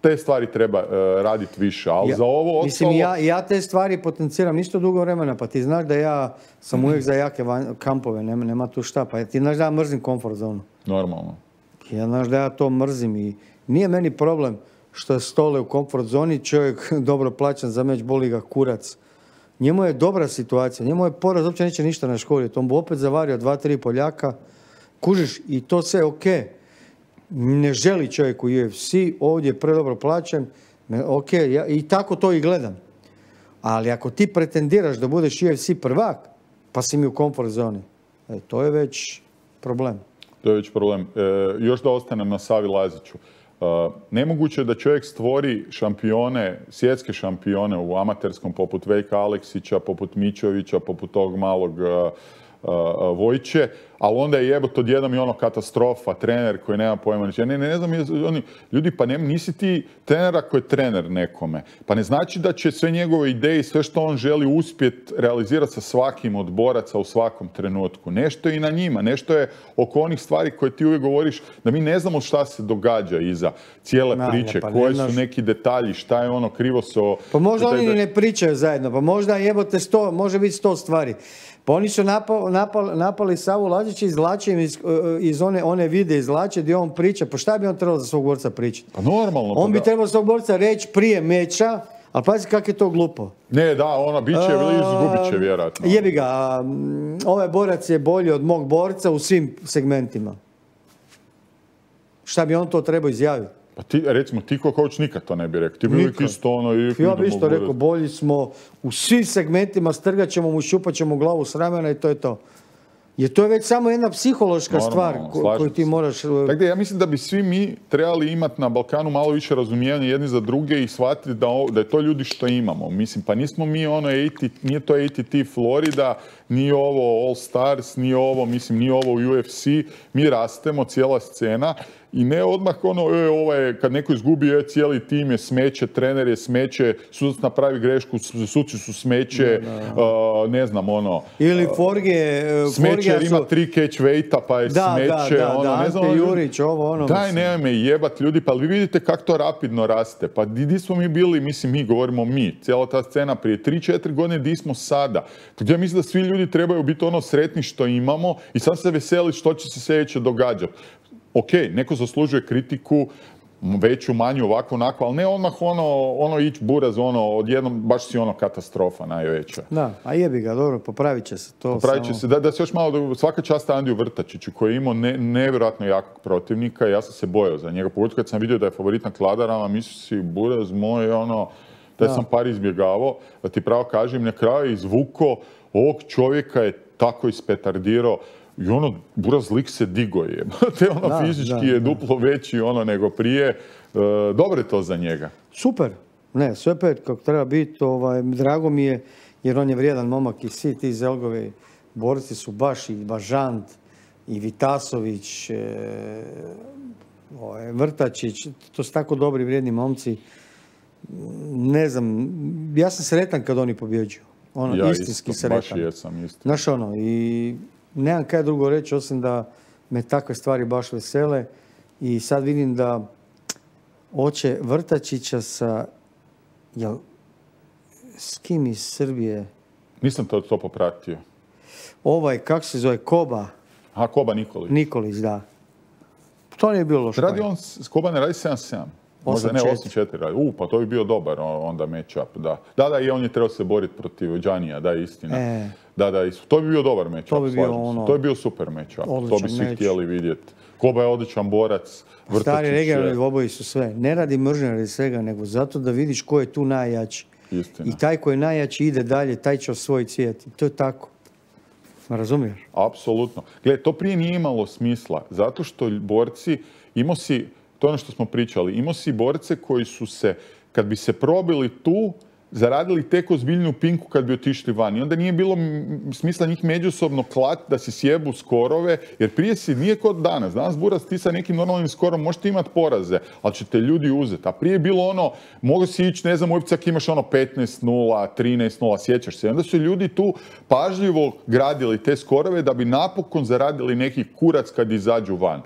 Te stvari treba uh, raditi više, ali Ja- za ovo Mislim, ostalo... ja, ja te stvari potenciram isto dugo vremena, pa ti znaš da ja sam uvijek za jake van- kampove, nema, nema tu šta, pa ti znaš da ja mrzim comfort zonu. Normalno. Ja znaš da ja to mrzim i nije meni problem što je Stole u comfort zoni, čovjek dobro plaćan za meč, boli ga kurac. Njemu je dobra situacija, njemu je poraz, uopće neće ništa naškoditi, on bi opet zavario dva, tri Poljaka, kužiš i to sve ok. Ne želi čovjek u U F C, ovdje je predobro plaćen, ne, ok, ja, i tako to i gledam. Ali ako ti pretendiraš da budeš U F C prvak, pa si mi u comfort zoni, e, to je već problem. To je već problem. E, još da ostanem na Savi Laziću. E, nemoguće je da čovjek stvori šampione, svjetske šampione u amaterskom poput Vejka Aleksića, poput Mićovića, poput tog malog e, e, Vojče, ali onda je jebot odjednom i ono katastrofa, trener koji nema pojma. Ja ne, ne, ne znam, je- oni, ljudi, pa ne, nisi ti trenera koji je trener nekome. Pa ne znači da će sve njegove ideje i sve što on želi uspjeti realizirati sa svakim od boraca u svakom trenutku. Nešto je i na njima, nešto je oko onih stvari koje ti uvijek govoriš da mi ne znamo šta se događa iza cijele Ma, priče, pa ne koje znaš. su neki detalji, šta je ono krivo se... o- Pa možda da- oni da- ni ne pričaju zajedno, pa možda jebote sto, može biti sto stvari. Pa oni su napali, napali, napali Savu Lazića, izvlače im iz, iz one, one vide izvlače gdje on priča. Pa šta bi on trebao za svog borca pričati? Pa normalno. pa On bi da. trebao svog borca reći prije meča, ali pazi kako je to glupo. Ne, da, ona bit će ili izgubit će vjerojatno. Jebi ga, a, mm, ovaj borac je bolji od mog borca u svim segmentima. Šta bi on to trebao izjaviti? Pa ti, recimo, ti ko coach nikad to ne bi rekao. Ti bi uvijek Nikad. isto ono... i Ja idemo bi isto gore. rekao, bolji smo u svim segmentima, strgat ćemo mu, šupat ćemo glavu s ramena i to je to. Jer to je već samo jedna psihološka Normalno, stvar ko- slažem koju ti se. moraš... Tako da ja mislim da bi svi mi trebali imati na Balkanu malo više razumijevanja jedni za druge i shvatiti da, ovo- da je to ljudi što imamo. Mislim, pa nismo mi ono, A T, nije to A T T Florida, nije ovo All Stars, nije ovo, mislim, nije ovo U F C. Mi rastemo, cijela scena i ne odmah ono, e, ovaj, kad neko izgubi, e, cijeli tim je smeće, trener je smeće, sudac napravi grešku, suci su smeće, da, da. Uh, ne znam, ono... Ili Forge... Smeće jer ima su... tri catch weighta, pa je da, smeće, da, da, ono, da, ne znam... Ante Jurić, ovo, ono... Daj, nemoj me jebat ljudi, pa vi vidite kako to rapidno raste. Pa di smo mi bili, mislim, mi govorimo mi, cijela ta scena prije tri četiri godine, di smo sada. Tako ja mislim da svi ljudi trebaju biti ono sretni što imamo i sad se veseli što će se sljedeće događati. Ok, neko zaslužuje kritiku, veću, manju, ovako, onako, ali ne odmah ono, ono ići buraz, ono, odjednom, baš si ono katastrofa najveća. Da, a jebi ga, dobro, popravit će se to. Popravit će samo... se, da, da se još malo, svaka čast Andiju Vrtačiću koji je imao ne, nevjerojatno jakog protivnika, ja sam se bojao za njega, pogotovo kad sam vidio da je favorit na Kladarama, mislio si, buraz moj, ono, da sam par izbjegavao, da ti pravo kažem, na kraju izvuko, ovog čovjeka je tako ispetardirao, i ono, buraz lik se digo je. Te ono da, fizički da, je duplo da. veći ono nego prije. E, dobro je to za njega. Super. Ne, sve pet kako treba biti. Ovaj, drago mi je jer on je vrijedan momak i svi ti Zelgovi borci su baš i Bažant i Vitasović, e, ovaj, Vrtačić. To su tako dobri vrijedni momci. Ne znam, ja sam sretan kad oni pobjeđuju. Ono, ja istinski isto, sretan. baš jesam isto. Znaš ono, i nemam kaj drugo reći osim da me takve stvari baš vesele i sad vidim da oče Vrtačića sa, jel, s kim iz Srbije? Nisam to, to popratio. Ovaj, kako se zove, Koba? Aha, Koba Nikolić. Nikolić, da. To nije bilo loše. Radi on, Koba ne radi sedam sedam. Možda ne, osam četiri radi. U, pa to bi bio dobar onda match-up, da. Da, da, i on je trebao se boriti protiv Đanija, da, istina. E. Da, da, to bi bio dobar match-up, to bi bio ono... To je bio super match-up, to bi svi meč. Htjeli vidjeti. Koba je odličan borac, Vrtačić. Stari regionalni dvoboji su sve. Ne radi mržnje radi svega, nego zato da vidiš ko je tu najjači. Istina. I taj ko je najjači ide dalje, taj će osvojiti svijet. I to je tako. Razumiješ? Apsolutno. Gle, to prije nije imalo smisla, zato što borci, imao si, to je ono što smo pričali, imao si borce koji su se, kad bi se probili tu, zaradili tek ozbiljnu pinku kad bi otišli van. I onda nije bilo smisla njih međusobno klat da si sjebu skorove, jer prije si nije kod danas. Danas buraz ti sa nekim normalnim skorom možete imati poraze, ali će te ljudi uzeti. A prije je bilo ono, mogu si ići, ne znam, u Ipcak imaš ono petnaest nula, trinaest nula, sjećaš se. I onda su ljudi tu pažljivo gradili te skorove da bi napokon zaradili neki kurac kad izađu van.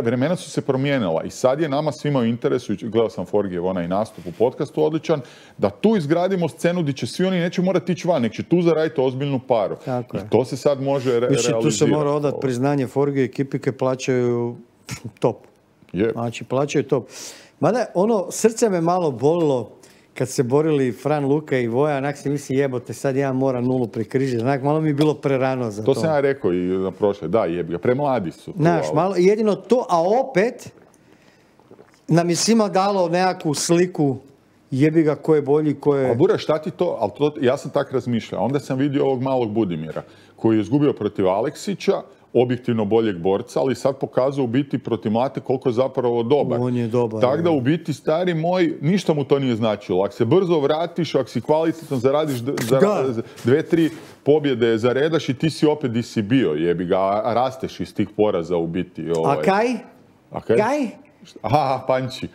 Vremena su se promijenila i sad je nama svima u interesu, gledao sam Forgijev onaj nastup u podcastu odličan, da tu izgradimo scenu gdje će svi oni neće morati ići van, nek će tu zaraditi ozbiljnu paru. Tako I je. To se sad može re- Više, realizirati. Tu se mora odati priznanje Forgije, ekipike plaćaju top. Yep. Znači, plaćaju top. Mada, ono, srce me malo bolilo kad se borili Fran Luka i Voja, onak se misli jebote, sad ja moram nulu prekrižiti. Onak, malo mi je bilo prerano za to. To sam ja rekao i na prošle, da, jebi ga, premladi su. Znaš, malo, jedino to, a opet nam je svima dalo nekakvu sliku jebi ga ko je bolji, ko je... A Bura, šta ti to, ali to, ja sam tak razmišljao, onda sam vidio ovog malog Budimira, koji je izgubio protiv Aleksića, objektivno boljeg borca, ali sad pokazao u biti protiv Mlate koliko je zapravo dobar. On je dobar. Tako da u biti, stari moj, ništa mu to nije značilo. Ako se brzo vratiš, ako si kvalitetno zaradiš zara, dve, tri pobjede zaredaš i ti si opet di si bio, jebi ga, a rasteš iz tih poraza u biti. Ovaj. A kaj? A kaj? Kaj? Aha, Panči.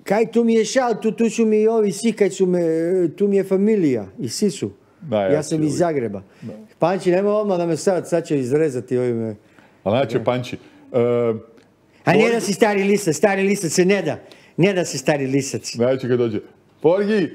Kaj, tu mi je šal, tu, tu su mi ovi svi, kaj su me, tu mi je familija i svi su. Da, ja, ja sam iz Zagreba. Da. Panči, nemoj odmah da me sad, sad će izrezati ovime. Ali znači, Panči... Uh, A ne da si stari lisac, stari lisac se ne da. Ne da si stari lisac. Znači kad dođe, Forgi,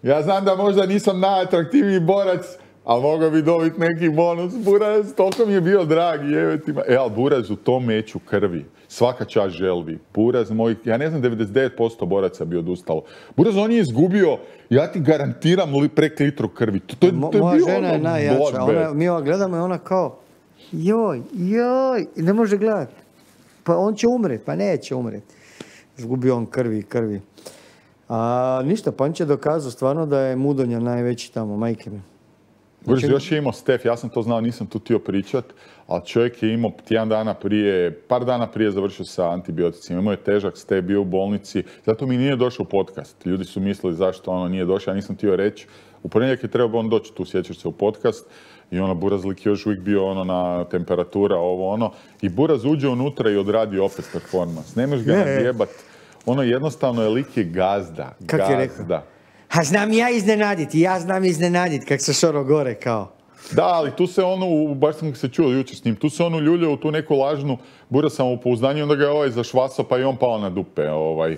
ja znam da možda nisam najatraktivniji borac, ali mogao bi dobiti neki bonus. Buraz, toliko mi je bio dragi, jevetima. E, ali Buraz u tom meću krvi. Svaka čast želvi. Buraz moj, ja ne znam, devedeset devet posto boraca bi odustalo. Buraz, on je izgubio, ja ti garantiram, li prek litru krvi. To, to, Mo, to je moja bio žena ono je najjača. Ona, mi ova gledamo i ona kao, joj, joj, ne može gledati. Pa on će umret, pa neće umret. Izgubio on krvi, krvi. A ništa, Panč je dokazao stvarno da je Mudonja najveći tamo, majke mi. Buraz, znači, još je imao Stef, ja sam to znao, nisam tu htio pričat, ali čovjek je imao tjedan dana prije, par dana prije završio sa antibioticima, imao je težak Stef, bio u bolnici, zato mi nije došao u podcast. Ljudi su mislili zašto ono nije došao, ja nisam htio reći. U ponedjeljak je trebao on doći tu, sjećaš se, u podcast I ono, Burazlik je još uvijek bio ono na temperatura, ovo ono. I Buraz uđe unutra i odradi opet performans. Nemaš ga nadjebat. Ono, jednostavno je lik je gazda. Kak je rekao? Ha, znam ja iznenaditi, ja znam iznenaditi, kak se šoro gore kao. Da, ali tu se ono, baš sam se čuo jučer s njim, tu se ono ljulja u tu neku lažnu Buraz samopouzdanje i onda ga je ovaj zašvasao pa i on pao na dupe. Ovaj. e,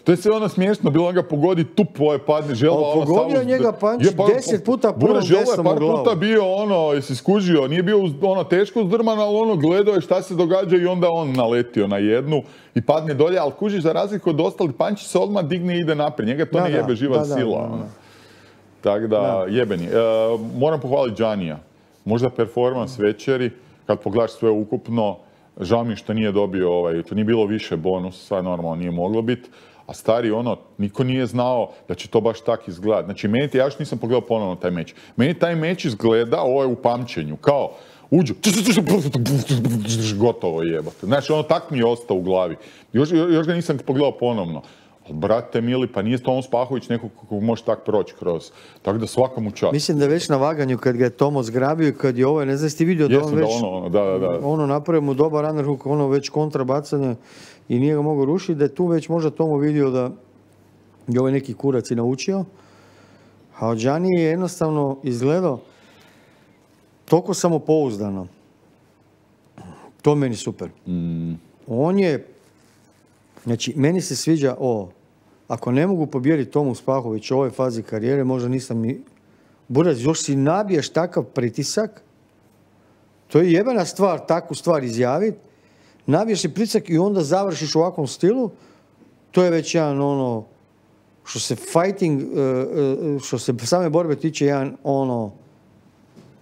to je sve ono smiješno, bilo on ga pogodi tup, ovaj padne želva. O, ono, pogodio njega panč pa, deset puta prvom desnom u glavu. Par puta bio ono, jesi skužio, nije bio ono teško uzdrman, ali ono gledao je šta se događa i onda on naletio na jednu i padne dolje, ali kužiš za razliku od ostalih, Pančić se odmah digne i ide naprijed, njega to da, ne jebe da, živa da, sila. Da, da, da. Tako da, da. jebeni. E, moram pohvaliti Giannija. Možda performans večeri, kad pogledaš sve ukupno, žao mi što nije dobio ovaj, to nije bilo više bonus, sad normalno nije moglo biti, a stari ono, niko nije znao da će to baš tak izgledati. Znači, meni, ja još nisam pogledao ponovno taj meč. Meni taj meč izgleda, ovo je u pamćenju, kao, uđu, gotovo jebate. Znači, ono tak mi je ostao u glavi. Još, još ga nisam pogledao ponovno. Brate mili, pa nije Tomo Spahović neko kako može tak proći kroz. Tako da svakom u čast. Mislim da već na vaganju kad ga je Tomo zgrabio i kad je ovo, ne znam ste vidio da on već da ono, da, da, da. ono napravio mu dobar underhook, ono već kontrabacanje i nije ga mogao rušiti, da je tu već možda Tomo vidio da je ovaj neki kurac i naučio. A od Gianni je jednostavno izgledao toliko samopouzdano. To meni super. Mm. On je, znači, meni se sviđa ovo. Ako ne mogu pobijediti Tomu Spahović u ovoj fazi karijere, možda nisam ni... Buraz, još si nabiješ takav pritisak, to je jebena stvar, takvu stvar izjaviti, nabiješ si pritisak i onda završiš u ovakvom stilu, to je već jedan ono, što se fighting, što se same borbe tiče, jedan ono,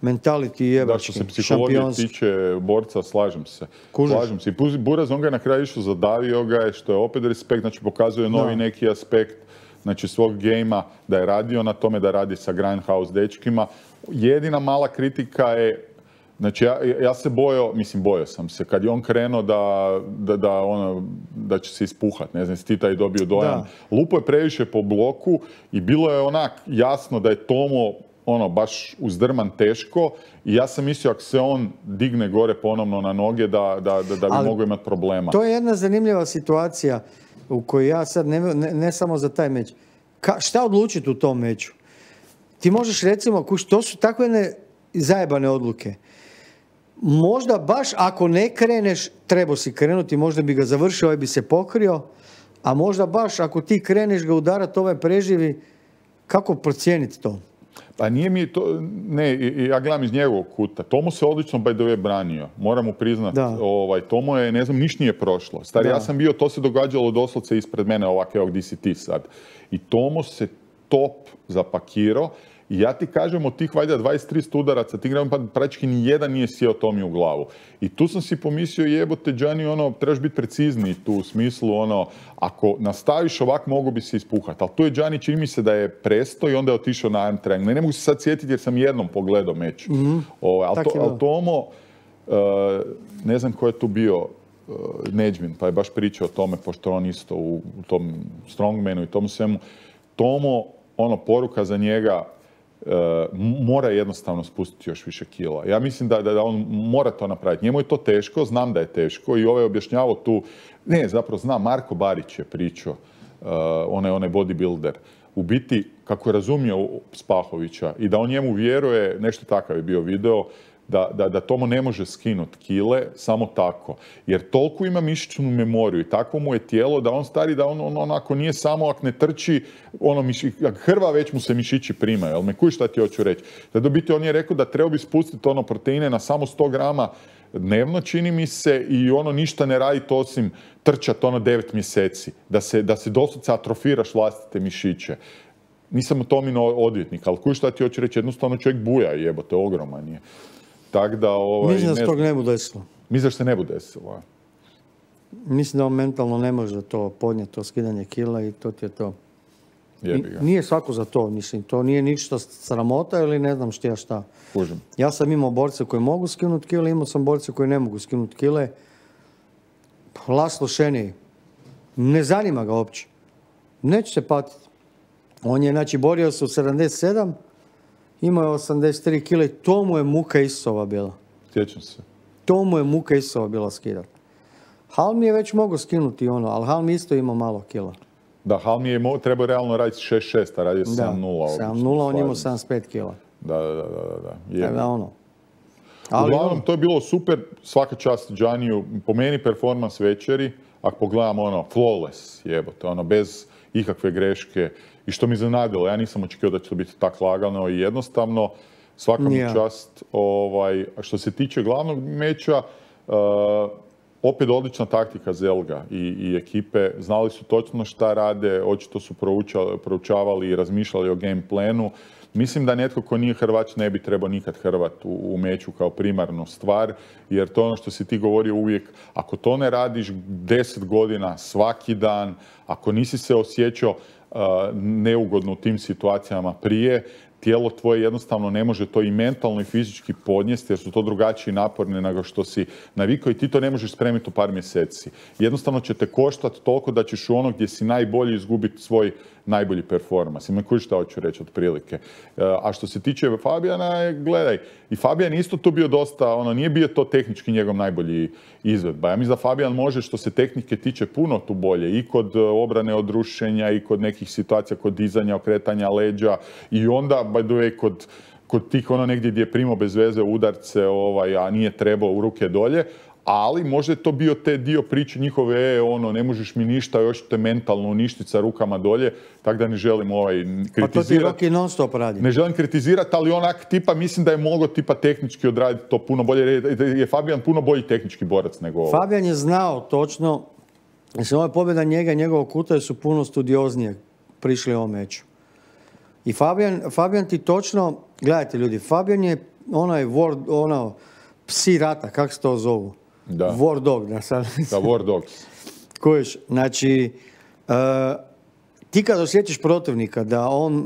mentality jebački, šampionski. Da, što se psihologije tiče borca, slažem se. Kužiš. Slažem se. I Buraz, on ga je na kraju išao, zadavio ga je, što je opet respekt, znači pokazuje novi da. neki aspekt, znači svog gejma, da je radio na tome, da radi sa Grindhouse dečkima. Jedina mala kritika je, znači ja, ja se bojao, mislim bojao sam se, kad je on krenuo da, da, da, ono, da će se ispuhat, ne znam, si ti taj dobio dojam. Lupo je previše po bloku i bilo je onak jasno da je Tomo ono, baš uzdrman teško i ja sam mislio ako se on digne gore ponovno na noge da, da, da, da bi ali mogao imati problema. To je jedna zanimljiva situacija u kojoj ja sad, ne, ne, ne samo za taj meč, Ka, šta odlučiti u tom meču? Ti možeš recimo, kuš, to su takve ne zajebane odluke. Možda baš ako ne kreneš, trebao si krenuti, možda bi ga završio, ovaj bi se pokrio, a možda baš ako ti kreneš ga udarati, ovaj preživi, kako procijeniti to? Pa nije mi to, ne, ja gledam iz njegovog kuta. Tomo se odlično by the way branio. Moram mu priznat, ovaj, Tomo je, ne znam, niš nije prošlo. Stari, ja sam bio, to se događalo doslovce ispred mene, ovak, evo, gdje si ti sad. I Tomo se top zapakirao. I ja ti kažem, od tih valjda dvadeset tri udaraca, ti gledam, pa praktički ni jedan nije sjeo Tomi u glavu. I tu sam si pomislio, jebote, Gianni, ono, trebaš biti precizniji tu u smislu, ono, ako nastaviš ovak, mogu bi se ispuhati. Ali tu je Gianni, čini mi se da je presto i onda je otišao na arm triangle. Ne, ne mogu se sad sjetiti jer sam jednom pogledao meč. Mm-hmm. O, ali, to, ali Tomo, uh, ne znam ko je tu bio, uh, Neđmin, pa je baš pričao o tome, pošto on isto u, u tom strongmanu i tomu svemu. Tomo, ono, poruka za njega, Uh, mora jednostavno spustiti još više kila. Ja mislim da, da, da on mora to napraviti. Njemu je to teško, znam da je teško i ovaj je objašnjavao tu, ne, zapravo znam, Marko Barić je pričao, uh, onaj, onaj bodybuilder, u biti, kako je razumio Spahovića i da on njemu vjeruje, nešto takav je bio video, da, da, da Tomo ne može skinuti kile samo tako. Jer toliko ima mišićnu memoriju i takvo mu je tijelo da on stari, da on, on onako nije samo ako ne trči, ono miši, hrva već mu se mišići primaju. Jel me kuj šta ti hoću reći? Da do biti on je rekao da treba bi spustiti ono proteine na samo sto grama dnevno, čini mi se, i ono ništa ne raditi osim trčati ono devet mjeseci. Da se, da se doslovce atrofiraš vlastite mišiće. Nisam u Tomino odvjetnik, ali kuj šta ti hoću reći? Jednostavno čovjek buja, jebote, ogroman je. Tak da, ovaj, mislim da se tog ne bude desilo. Mislim da se ne bude desilo. Mislim da on mentalno ne može to podnijeti, to skidanje kila i to ti je to. Jebi ga. Nije svako za to, mislim. To nije ništa sramota ili ne znam šta šta. Kužim. Ja sam imao borce koji mogu skinuti kile, imao sam borce koji ne mogu skinuti kile. Laslo Šeniji. Ne zanima ga uopće. Neće se patiti. On je, znači, borio se u sedamdeset sedam Imao je osamdeset tri kile, to mu je muka Isova bila. Sjećam se. To mu je muka Isova bila skidati. Halmi je već mogao skinuti ono, ali Halmi isto ima malo kila. Da, Halmi je mo- trebao realno raditi šest šest, a radio sedam nula. sedam nula, on imao sedamdeset pet kila. Da, da, da, da. da. Je. Da, ono. Ali Uglavnom, ono, to je bilo super, svaka čast Gianniju, po meni performans večeri, ako pogledam ono, flawless jebote, ono, bez ikakve greške, i što mi iznenadilo, ja nisam očekivao da će to biti tako lagano i jednostavno, svaka mu Ja. čast. Ovaj, a što se tiče glavnog meča, uh, opet odlična taktika Zelga i, i ekipe, znali su točno šta rade, očito su proučali, proučavali i razmišljali o game planu. Mislim da netko ko nije Hrvač ne bi trebao nikad Hrvat u, u meču kao primarnu stvar, jer to je ono što si ti govorio uvijek, ako to ne radiš deset godina, svaki dan, ako nisi se osjećao uh, neugodno u tim situacijama prije, tijelo tvoje jednostavno ne može to i mentalno i fizički podnijesti jer su to drugačiji naporni nego što si navikao i ti to ne možeš spremiti u par mjeseci. Jednostavno će te koštati toliko da ćeš u ono gdje si najbolji izgubiti svoj najbolji performans. Ima koji šta hoću reći otprilike. A što se tiče Fabijana, gledaj, i Fabijan isto tu bio dosta, ono, nije bio to tehnički njegov najbolji izvedba. Ja mislim da Fabijan može što se tehnike tiče puno tu bolje i kod obrane od rušenja i kod nekih situacija, kod dizanja, okretanja leđa i onda, by the way, kod, kod tih ono negdje gdje je primao bez veze udarce, ovaj, a nije trebao u ruke dolje, ali možda je to bio te dio priče njihove, e, ono, ne možeš mi ništa, još te mentalno uništiti sa rukama dolje, tako da ne želim ovaj, kritizirati. Pa to ti Rocky non stop radi. Ne želim kritizirati, ali onak tipa, mislim da je mogao tipa tehnički odraditi to puno bolje, jer je, je Fabijan puno bolji tehnički borac nego ovo. Fabijan je znao točno, mislim, ova pobjeda njega i njegovog kuta su puno studioznije prišli ovom meču. I Fabijan, Fabijan ti točno, gledajte ljudi, Fabijan je onaj war, ono, psi rata, kako se to zovu? Da. War dog, da sad. Da, War Dogs. Kojiš, znači, uh, ti kad osjetiš protivnika da on,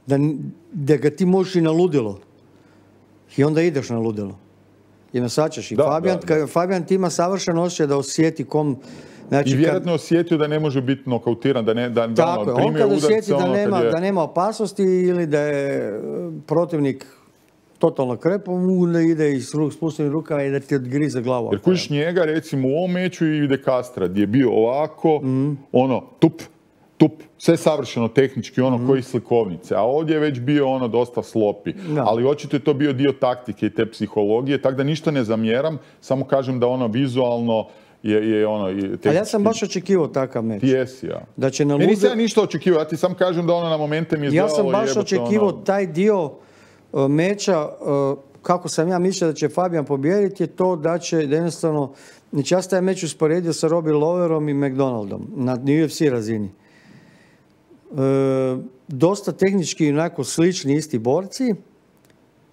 da, da ga ti možeš i na ludilo, i onda ideš na ludilo. I nasačaš. I Da, Fabijan, da, da. Fabijan ti ima savršen osjećaj da osjeti kom... Znači, I vjerojatno je osjetio da ne može biti nokautiran, da ne da, da tako ono, je, on primio kad udarce, osjeti da ono, kad nema, je- da nema opasnosti ili da je e, protivnik totalno krepo, mu da ide i s ruk, spuštenim rukama i da ti odgrize glavu. Jer kužiš njega, recimo, u ovom meču i De Castra, gdje je bio ovako, Mhm. ono, tup, tup, sve savršeno tehnički, ono, Mhm. koji slikovnice. A ovdje je već bio ono dosta slopi. Da. Ali očito je to bio dio taktike i te psihologije, tako da ništa ne zamjeram, samo kažem da ono vizualno je, je ono... i tehnički- Ali ja sam baš očekivao takav meč. Ti jesi, ja. Da će na Meni nisam ja lude... ništa očekivao, ja ti sam kažem da ono na momente mi je Ja izgledalo sam baš jebote, očekivao ono- taj dio e, meča, e, kako sam ja mislio da će Fabijan pobijediti, je to da će da jednostavno... Znači ja sam taj meč usporedio sa Robbie Lawlerom i McDonaldom na U F C razini. E, dosta tehnički onako slični isti borci,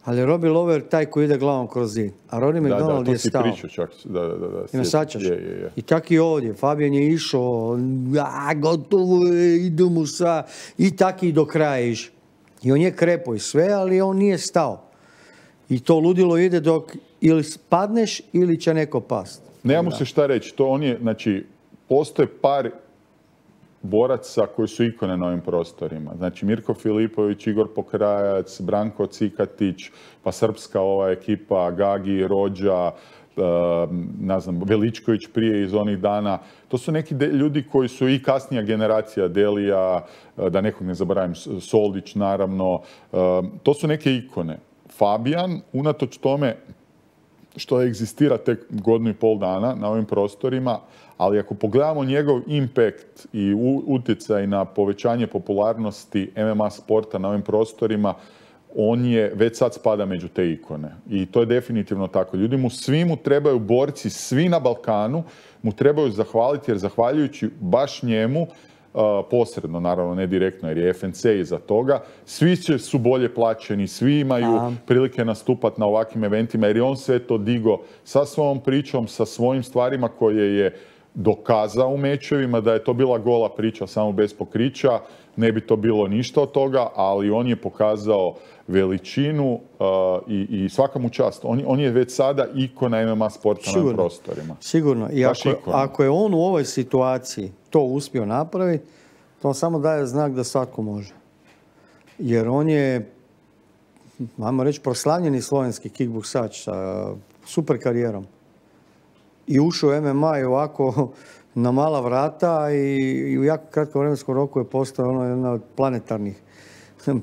ali je Robbie Lawler taj koji ide glavom kroz zid. A Rodney Da, da, McDonald to je si stao. pričao čak. Da, da, da. da, I sjećam. nasačaš. Je, je, je. I tako i ovdje. Fabijan je išao, a, gotovo je, idemo sa... I tako i do kraja iš. I on je krepo i sve, ali on nije stao. I to ludilo ide dok ili spadneš ili će neko past. Nema mu se šta reći. To on je, znači, postoje par boraca koji su ikone na ovim prostorima. Znači, Mirko Filipović, Igor Pokrajac, Branko Cikatić, pa srpska ova ekipa, Gagi, Rođa, uh, ne znam, Veličković prije iz onih dana. To su neki de- ljudi koji su i kasnija generacija, Delija, uh, da nekog ne zaboravim, S- Soldić naravno. Uh, to su neke ikone. Fabijan, unatoč tome što egzistira tek godinu i pol dana na ovim prostorima, ali ako pogledamo njegov impact i u- utjecaj na povećanje popularnosti M M A sporta na ovim prostorima, on je, već sad spada među te ikone. I to je definitivno tako. Ljudi mu, svi mu trebaju borci, svi na Balkanu mu trebaju zahvaliti, jer zahvaljujući baš njemu, Uh, posredno, naravno, ne direktno, jer je F N C iza toga, svi će, su bolje plaćeni, svi imaju Aha. prilike nastupati na ovakvim eventima, jer je on sve to digo sa svojom pričom, sa svojim stvarima koje je dokazao u mečevima, da je to bila gola priča samo bez pokrića, ne bi to bilo ništa od toga, ali on je pokazao veličinu uh, i, i svaka mu čast. On, on je već sada ikona M M A sporta na ovim Sigurno. prostorima. Sigurno. I Baš ako, ikona. ako je on u ovoj situaciji to uspio napraviti, to samo daje znak da svatko može. Jer on je ajmo reći, proslavljeni slovenski kickboksač sa super karijerom. I ušao u M M A i ovako na mala vrata i, i u jako kratkom vremenskom roku je postao ono jedna od planetarnih,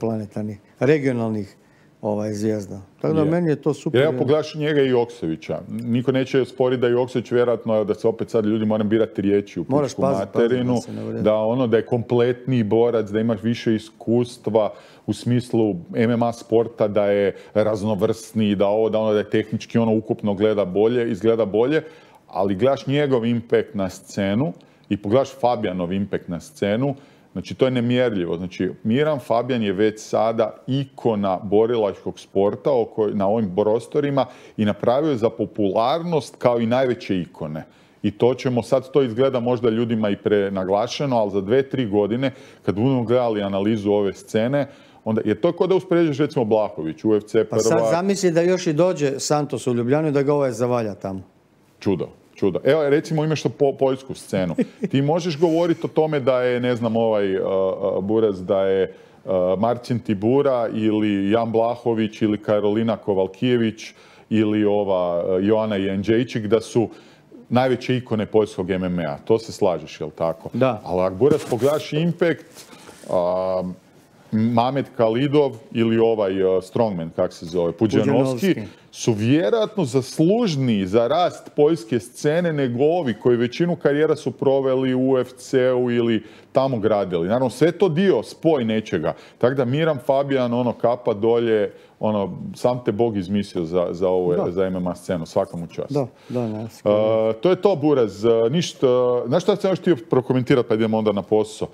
planetarnih, regionalnih ovaj, zvijezda. Tako da je. Meni je to super. Ja pogledaš njega i Oksevića. Niko neće sporiti da je Oksević vjerojatno, da se opet sad ljudi moram birati riječi u pičku materinu, da, da ono da je kompletniji borac, da imaš više iskustva u smislu M M A sporta, da je raznovrsniji, da ovo, da ono da je tehnički ono ukupno gleda bolje, izgleda bolje, ali gledaš njegov impact na scenu i pogledaš Fabijanov impact na scenu. Znači, to je nemjerljivo. Znači, Miran Fabijan je već sada ikona borilačkog sporta oko, na ovim prostorima i napravio je za popularnost kao i najveće ikone. I to ćemo, sad to izgleda možda ljudima i prenaglašeno, ali za dve, tri godine, kad budemo gledali analizu ove scene, onda je to kao da uspoređuješ recimo Blahović, U F C prva... Pa sad zamisli da još i dođe Santos u Ljubljanu i da ga ovaj zavalja tamo. Čudo. Čudo. Evo, recimo, imaš to po, poljsku scenu. Ti možeš govoriti o tome da je, ne znam, ovaj uh, Buraz, da je uh, Marcin Tibura ili Jan Blahović ili Karolina Kovalkijević ili ova uh, Joana Janđejčik, da su najveće ikone poljskog M M A. To se slažeš, jel tako? Da. Ali ako Buraz pogledaš Impact, uh, Mamed Kalidov ili ovaj uh, strongman, kak se zove, Puđanovski, su vjerojatno zaslužniji za rast poljske scene nego ovi koji većinu karijera su proveli u U F C-u ili tamo gradili. Naravno, sve to dio, spoj nečega. Tako da Miran Fabijan, ono, kapa dolje, ono, sam te Bog izmislio za, za ovu, za M M A scenu. Svaka mu čast. Da, da, ne. Uh, to je to, Buraz. Ništa, znaš šta sam još htio prokomentirati pa idemo onda na posao?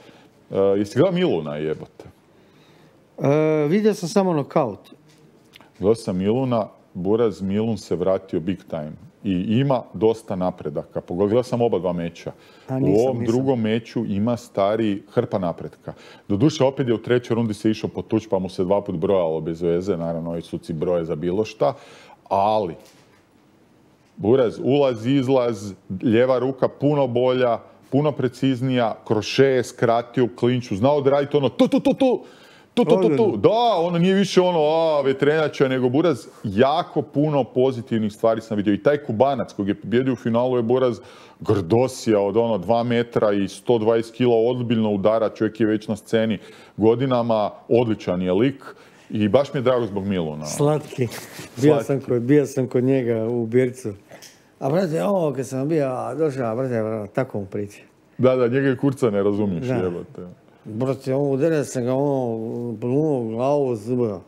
Uh, jesi gledao Miluna, jebote? Uh, vidio sam samo nokaut. Gledao sam Miluna, Buraz, Milun se vratio big time i ima dosta napredaka. Pogledao sam oba dva meča. A, nisam, u ovom nisam. drugom meču ima stari hrpa napretka. Doduše, opet je u trećoj rundi se išao potući pa mu se dva put brojalo bez veze. Naravno, ovi suci broje za bilo šta. Ali, Buraz, ulaz, izlaz, lijeva ruka puno bolja, puno preciznija, kroše je skratio u klinču, znao odraditi ono tu, tu, tu, tu. Tu, tu, tu, tu. Da, ono nije više ono, a, vetrenača, nego Buraz, jako puno pozitivnih stvari sam vidio. I taj Kubanac kojeg je pobjedio u finalu je Buraz grdosija od ono dva metra i sto dvadeset kila, ozbiljno udara, čovjek je već na sceni godinama, odličan je lik i baš mi je drago zbog Miluna. Slatki. Bio sam kod, bio sam kod njega u Bircu. A brate, ovo kad sam bio došao, brate, tako mu priči. Da, da, njega kurca ne razumiješ, jebote. Brate, ovo udario sam ga ono, plunuo glavu zbra.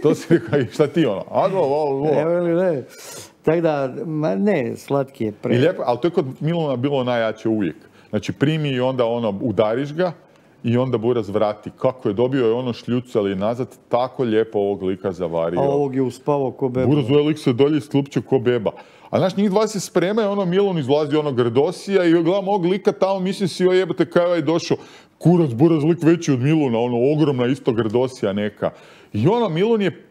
To si rekao, šta ti ono? Ado, ovo, ovo. Evo ili ne. Tako da, ma ne, slatki je pre. I lijepo, ali to je kod Miluna bilo najjače uvijek. Znači, primi i onda ono, udariš ga i onda Buraz vrati. Kako je dobio je ono šljucali nazad, tako lijepo ovog lika zavario. A ovog je uspavao ko beba. Buraz ovaj lik se dolje sklupčio ko beba. A znaš, njih dva se spremaju, ono Milun izlazi ono grdosija i gledam ovog lika tamo, mislim si, joj jebate, kaj je došao. Kurac, Buraz, lik veći od Miluna, ono, ogromna isto grdosija neka. I ono, Milun je,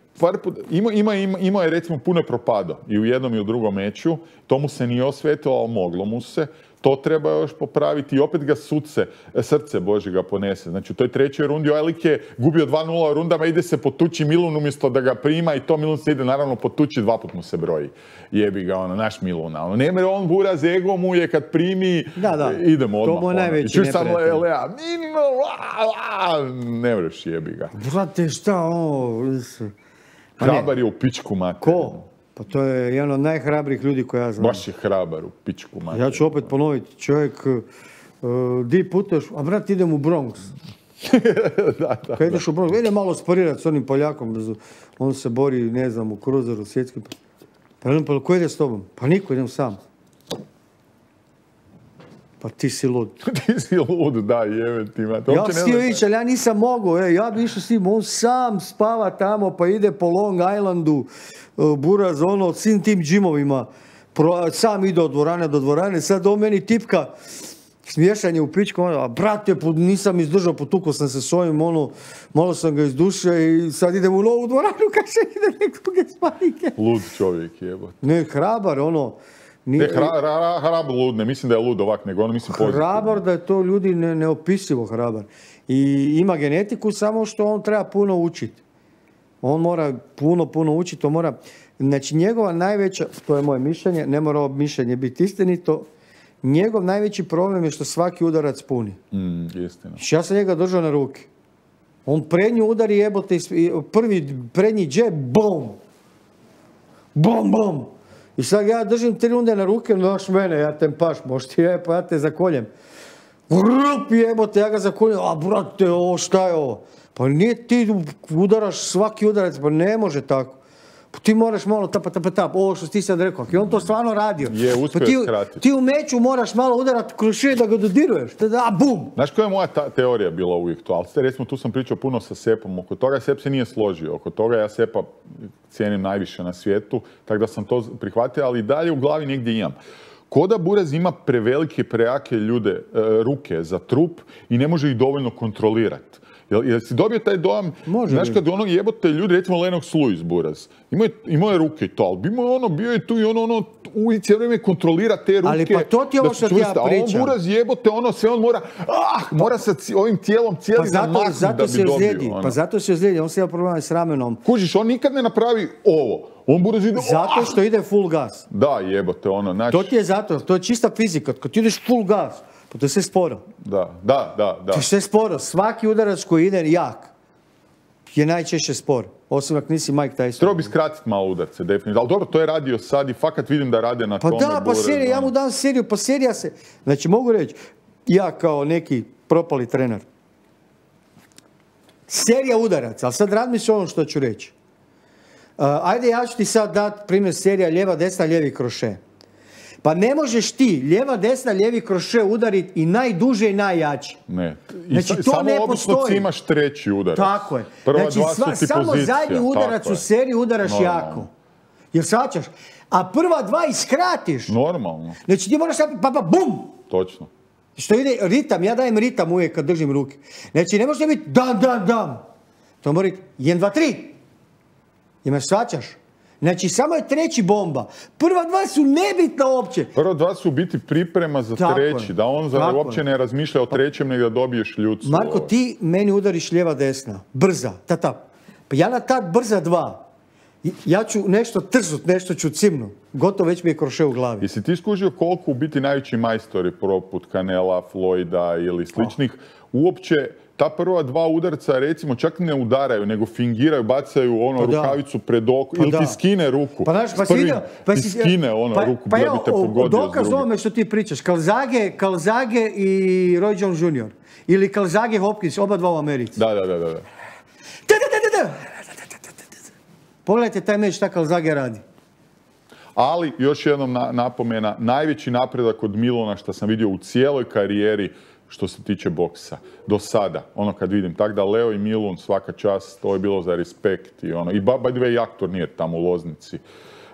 ima, ima, ima, ima je recimo puno je propadao i u jednom i u drugom meču, to mu se nije osvetilo, ali moglo mu se. To treba još popraviti i opet ga sudce, srce Bože ga ponese. Znači u toj trećoj rundi ovaj lik je gubio dva nula u rundama, ide se potući Milun umjesto da ga prima i to Milun se ide naravno potući, dva put mu se broji. Jebi ga ono, naš Miluna. Ono, nema on Buraz, ego mu je kad primi, da, da. idemo odmah. To mu je najveći ono. neprijatelj. Sam Lea, ne vreš jebi ga. Brate, šta ovo? Hrabar je u pičku materinu. Ko? Pa to je jedan od najhrabrijih ljudi koje ja znam. Baš je hrabar u pičku materinu. Ja ću opet ponoviti, čovjek, uh, di puteš, a brat idem u Bronx. da, da, Kad ideš u Bronx, ide malo sparirati s onim Poljakom, on se bori, ne znam, u kruzeru svjetski. Pa jednom, pa ko ide s tobom? Pa niko, idem sam. Pa ti si lud. Ti si lud, da, jebe ti. Ja sam htio ići, ali ja nisam mogao. E, ja bi išao s tim, on sam spava tamo, pa ide po Long Islandu, uh, Buraz, ono, svim tim džimovima. Pro, sam ide od dvorane do dvorane, sad on meni tipka smiješanje u pičku, ono, a brate, nisam izdržao, potukao sam se s ovim, ono, malo sam ga izdušio i sad idem u novu dvoranu, kaže ide nekoga s panike. Lud čovjek, jebote. Ne, hrabar, ono, Nije, ne, hra, hra, hrabar lud, ne mislim da je lud ovak, nego ono mislim pozitivno. Hrabar, da je to ljudi ne, neopisivo hrabar. I ima genetiku, samo što on treba puno učiti. On mora puno, puno učiti, on mora... Znači, njegova najveća, to je moje mišljenje, ne mora ovo mišljenje biti istinito, njegov najveći problem je što svaki udarac puni. Mm, istina. Ja sam njega držao na ruke. On prednju udari jebote, prvi prednji džep, bom! Bom, bom! I sad ja držim tri runde na ruke, noš mene, ja te paš, možeš ti je, pa ja te zakoljem. Vrup jebote, ja ga zakoljem, a brate, ovo šta je ovo? Pa nije ti udaraš svaki udarac, pa ne može tako. Pa ti moraš malo tapa, tapa, tapa, ovo što ti sad rekao. I on to stvarno radio. Je, uspio pa ti, skratiti. Ti u meču moraš malo udarati kroz šije da ga dodiruješ. Da, bum! Znaš koja je moja ta- teorija bila uvijek to? Ali recimo tu sam pričao puno sa Sepom oko toga. Sep se nije složio oko toga. Ja Sepa cijenim najviše na svijetu. Tako da sam to prihvatio, ali i dalje u glavi negdje imam. Ko da Buraz ima prevelike, prejake ljude, e, ruke za trup i ne može ih dovoljno kontrolirati. Jel, jel si dobio taj dojam, može znaš bi. kad ono jebote ljudi, recimo Lennox Lewis Buraz, imao je, imao je ruke i to, ali imao ono, bio je tu i ono, ono, uvijek cijelo vrijeme kontrolira te ruke. Ali pa to ti je ovo što ti ja pričam. A on Buraz jebote, ono sve on mora, ah, mora sa ci, ovim tijelom cijeli pa zato, zamahnuti zato da bi dobio. Zlijedi, Ono. pa zato se ozlijedi, on se ima problema s ramenom. Kužiš, on nikad ne napravi ovo. On Buraz ide, Zato ah! što ide full gas. Da, jebote, ono, znači... To ti je zato, to je čista fizika. Kad ti ideš full gas, pa to je sve sporo. Da, da, da, da. To je sve sporo. Svaki udarac koji ide jak je najčešće spor. Osim ako nisi Mike Tyson. Treba bi skratiti malo udarce, definitivno. Ali dobro, to je radio sad i fakat vidim da rade na pa tome. Pa da, pa Buraz, serija, ja ono. mu dam seriju, pa serija se... Znači, mogu reći, ja kao neki propali trener, serija udaraca, ali sad razmisli ono što ću reći. Uh, ajde, ja ću ti sad dati primjer serija lijeva, desna, lijevi kroše. Pa ne možeš ti lijeva, desna, lijevi kroše udariti i najduže i najjači. Ne. I Znači, sa, to samo ne obično postoji. cimaš treći udarac. Tako je. Prva znači, dva su sva, ti samo pozicija, zadnji udarac tako u je. seriji udaraš Normalno. jako. Jer svačaš. A prva dva iskratiš. Normalno. Znači, ti moraš pa, pa bum! Točno. Što ide ritam, ja dajem ritam uvijek kad držim ruke. Znači, ne može biti dam, dam, dam. To mora biti jedan, dva, tri. Imaš svačaš. Znači, samo je treći bomba. Prva dva su nebitna uopće. Prva dva su u biti priprema za Tako treći. je. Da on za, Tako uopće je. ne razmišlja o trećem, nego da dobiješ ljudstvo. Marko, ti meni udariš lijeva, desna. Brza, ta, ta. Pa ja na ta brza dva. Ja ću nešto trznut, nešto ću cimnu. Gotovo već mi je kroše u glavi. Jesi ti skužio koliko u biti najveći majstori poput Canela, Floyda ili sličnih, uopće ta prva dva udarca, recimo, čak ne udaraju, nego fingiraju, bacaju ono Pa da. rukavicu pred oko, Pa ili da. ti skine ruku. Pa znaš, pa S si prvim vidio, pa ti si, skine ono pa, ruku pa da evo, bi te pogodio s dokaz drugim. ovome što ti pričaš, Kalzage, Kalzage i Roy Jones junior Ili Kalzage Hopkins, oba dva u Americi. Da, da, da, da. Da, da, da, da, da. Pogledajte taj meč šta Kalzage radi. Ali, još jednom na, napomena, najveći napredak od Milona što sam vidio u cijeloj karijeri što se tiče boksa. Do sada, ono kad vidim. Tako da Leo i Milun, svaka čast, to je bilo za respekt. I, ono, i by the way, jak turnir tamo u Loznici.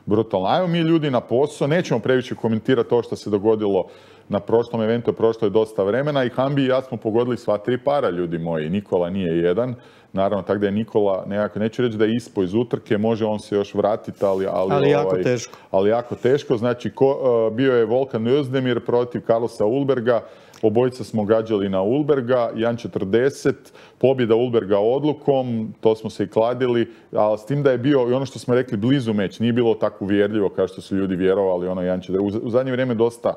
Brutalno. Ajmo mi ljudi na posao, nećemo previše komentirati to što se dogodilo na prošlom eventu, prošlo je dosta vremena i Hambi i ja smo pogodili sva tri para, ljudi moji. Nikola nije jedan. Naravno, tako da je Nikola, nekako, neću reći da je ispao iz utrke, može on se još vratiti, ali... Ali, Ali jako ovaj, teško. Ali jako teško. Znači, ko, uh, bio je Volkan Özdemir protiv Carlosa Ulberga. Obojica smo gađali na Ulberga, jedan četrdeset, pobjeda Ulberga odlukom, to smo se i kladili, ali s tim da je bio, i ono što smo rekli, blizu meč, nije bilo tako uvjerljivo kao što su ljudi vjerovali, ono jedan četrdeset. U zadnje vrijeme dosta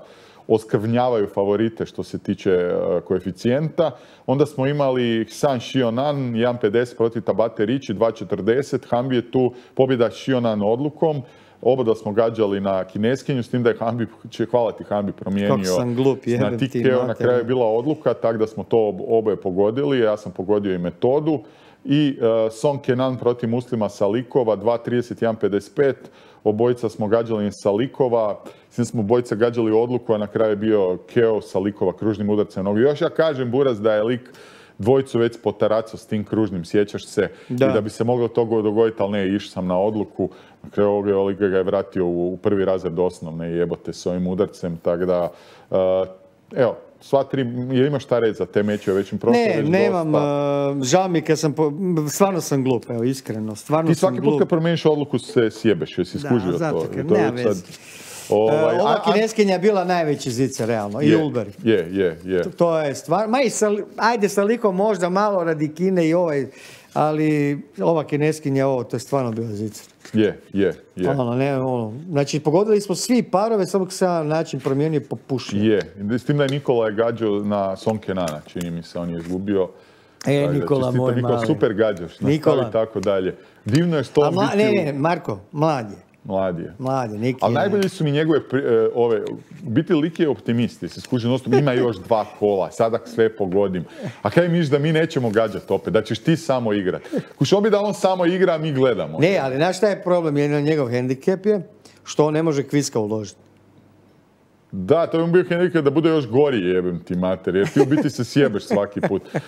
oskrvnjavaju favorite što se tiče uh, koeficijenta. Onda smo imali San Shionan, jedan pedeset protiv Tabate Ricci, dva četrdeset. Hambi je tu pobjeda Shionan odlukom. Oba da smo gađali na kineskinju, s tim da je Hambi, će hvala ti Hambi, promijenio Kako sam glup, na jebem ti tikeo. Na mater. kraju je bila odluka, tako da smo to oboje pogodili. Ja sam pogodio i metodu. I uh, Song Kenan protiv Muslima Salikova, dva trideset jedan pedeset pet. Obojica smo gađali iz Salikova. Svi smo obojica gađali odluku, a na kraju je bio Keo Salikova kružnim udarcem nogu. Još ja kažem, Buraz, da je lik dvojicu već potaracao s tim kružnim, sjećaš se, Da. i da bi se moglo toga dogoditi, ali ne, išao sam na odluku. Na kraju ovoga lik ga je vratio u, u prvi razred osnovne i jebote s ovim udarcem, tako da, uh, evo, sva tri, jel imaš šta reći za te meče u većem prostoru? Ne, već nemam, dosta? uh, žao mi kad sam, po, stvarno sam glup, evo, iskreno, stvarno Ti sam svaki glup. put kad promijeniš odluku se sjebeš, jesi Da, skužio zato to? kad To je nema već sad- veze. Ovaj, Uh, ova a- a- kineskinja je bila najveći zica, realno, i je, Ulberg. Je, je, je. To je stvar, ma i sa, ajde sa likom možda malo radi Kine i ovaj, ali ova kineskinja, ovo, to je stvarno bilo zicer. Je, je, je. Ono, ne, ono. Znači, pogodili smo svi parove, samo se jedan način promijenio po pušenju. Je, s tim da je Nikola je gađao na Son Kenana, čini mi se, on je izgubio. E, Nikola, čestito, moj Nikola, mali. super gađaš, Nikola. nastavi tako dalje. Divno je što A on mla, biti ne, u- ne, Marko, mlad je. Mlad je. Mlad je, Niki. Ali je- najbolji su mi njegove, pri- e, ove, biti lik je optimist, jer se skuži nostom, ima još dva kola, sada sve pogodim. A kaj miš da mi nećemo gađati opet, da ćeš ti samo igrat. Kuš, on bi da on samo igra, a mi gledamo. Ne, ali znaš šta je problem? Jedan njegov hendikep je što on ne može kviska uložiti. Da, to bi mu bio hendikep da bude još gori, jebem ti mater, jer ti u biti se sjebeš svaki put. Uh,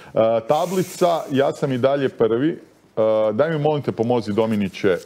tablica, ja sam i dalje prvi. Uh, daj mi molim te pomozi Dominiće,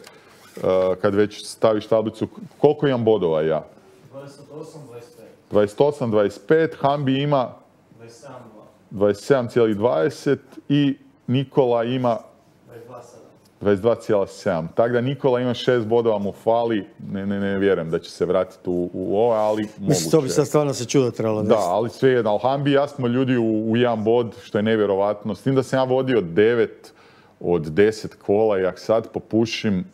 uh, kad već staviš tablicu, koliko imam bodova ja? dvadeset osam dvadeset pet. dvadeset osam dvadeset pet, Hambi ima dvadeset sedam dva. dvadeset sedam zarez dvadeset i Nikola ima dvadeset dva sedam. dvadeset dva zarez sedam. Tako da Nikola ima šest bodova, mu fali, ne, ne, ne vjerujem da će se vratiti u, u ovo, ali moguće. Mislim, to bi sad stvarno se čudo trebalo Da, desiti. ali svejedno, ali Hambi i ja smo ljudi u, u jedan bod, što je nevjerovatno. S tim da sam ja vodio devet od deset kola i ako sad popušim,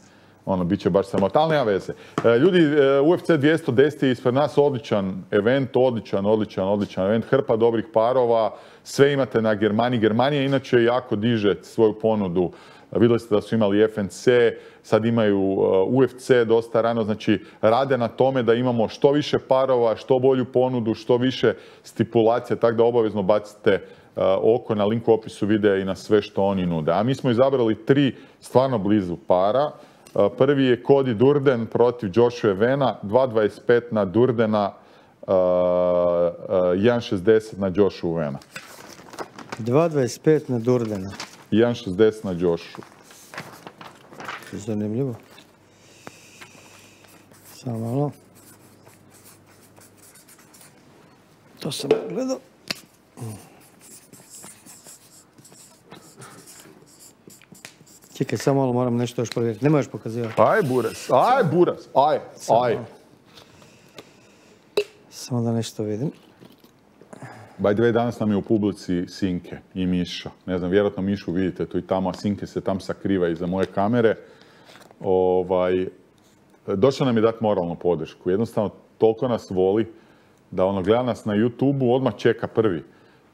ono, bit će baš sramota, ali nema veze. E, ljudi, e, U F C dvjesto deset je ispred nas odličan event, odličan, odličan, odličan event, hrpa dobrih parova, sve imate na Germaniji. Germanija inače jako diže svoju ponudu. Vidjeli ste da su imali F N C, sad imaju U F C dosta rano, znači rade na tome da imamo što više parova, što bolju ponudu, što više stipulacija, tako da obavezno bacite uh, oko na link u opisu videa i na sve što oni nude. A mi smo izabrali tri stvarno blizu para. Uh, prvi je Cody Durden protiv Joshua Vena, dva dvadeset pet na Durdena, uh, uh, jedan šezdeset na Joshua Vena. dva dvadeset pet na Durdena. jedan šezdeset na Joshua. Zanimljivo. Samo malo. To sam gledao. Čekaj, samo malo moram nešto još provjeriti. Ne možeš pokazivati. Aj, Buras, aj, Buras, aj, aj. Samo da nešto vidim. By the way, danas nam je u publici Sinke i Miša. Ne znam, vjerojatno Mišu vidite tu i tamo, a Sinke se tam sakriva iza moje kamere. Ovaj, došao nam je dati moralnu podršku. Jednostavno, toliko nas voli da ono gleda nas na YouTubeu, odmah čeka prvi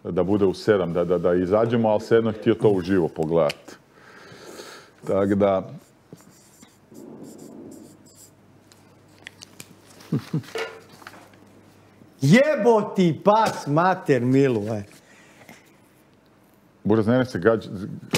da bude u sedam, da, da, da izađemo, ali svejedno je htio to uživo pogledati. Tako da... Jeboti pas mater milu, aj. Buraz, ne se gađ,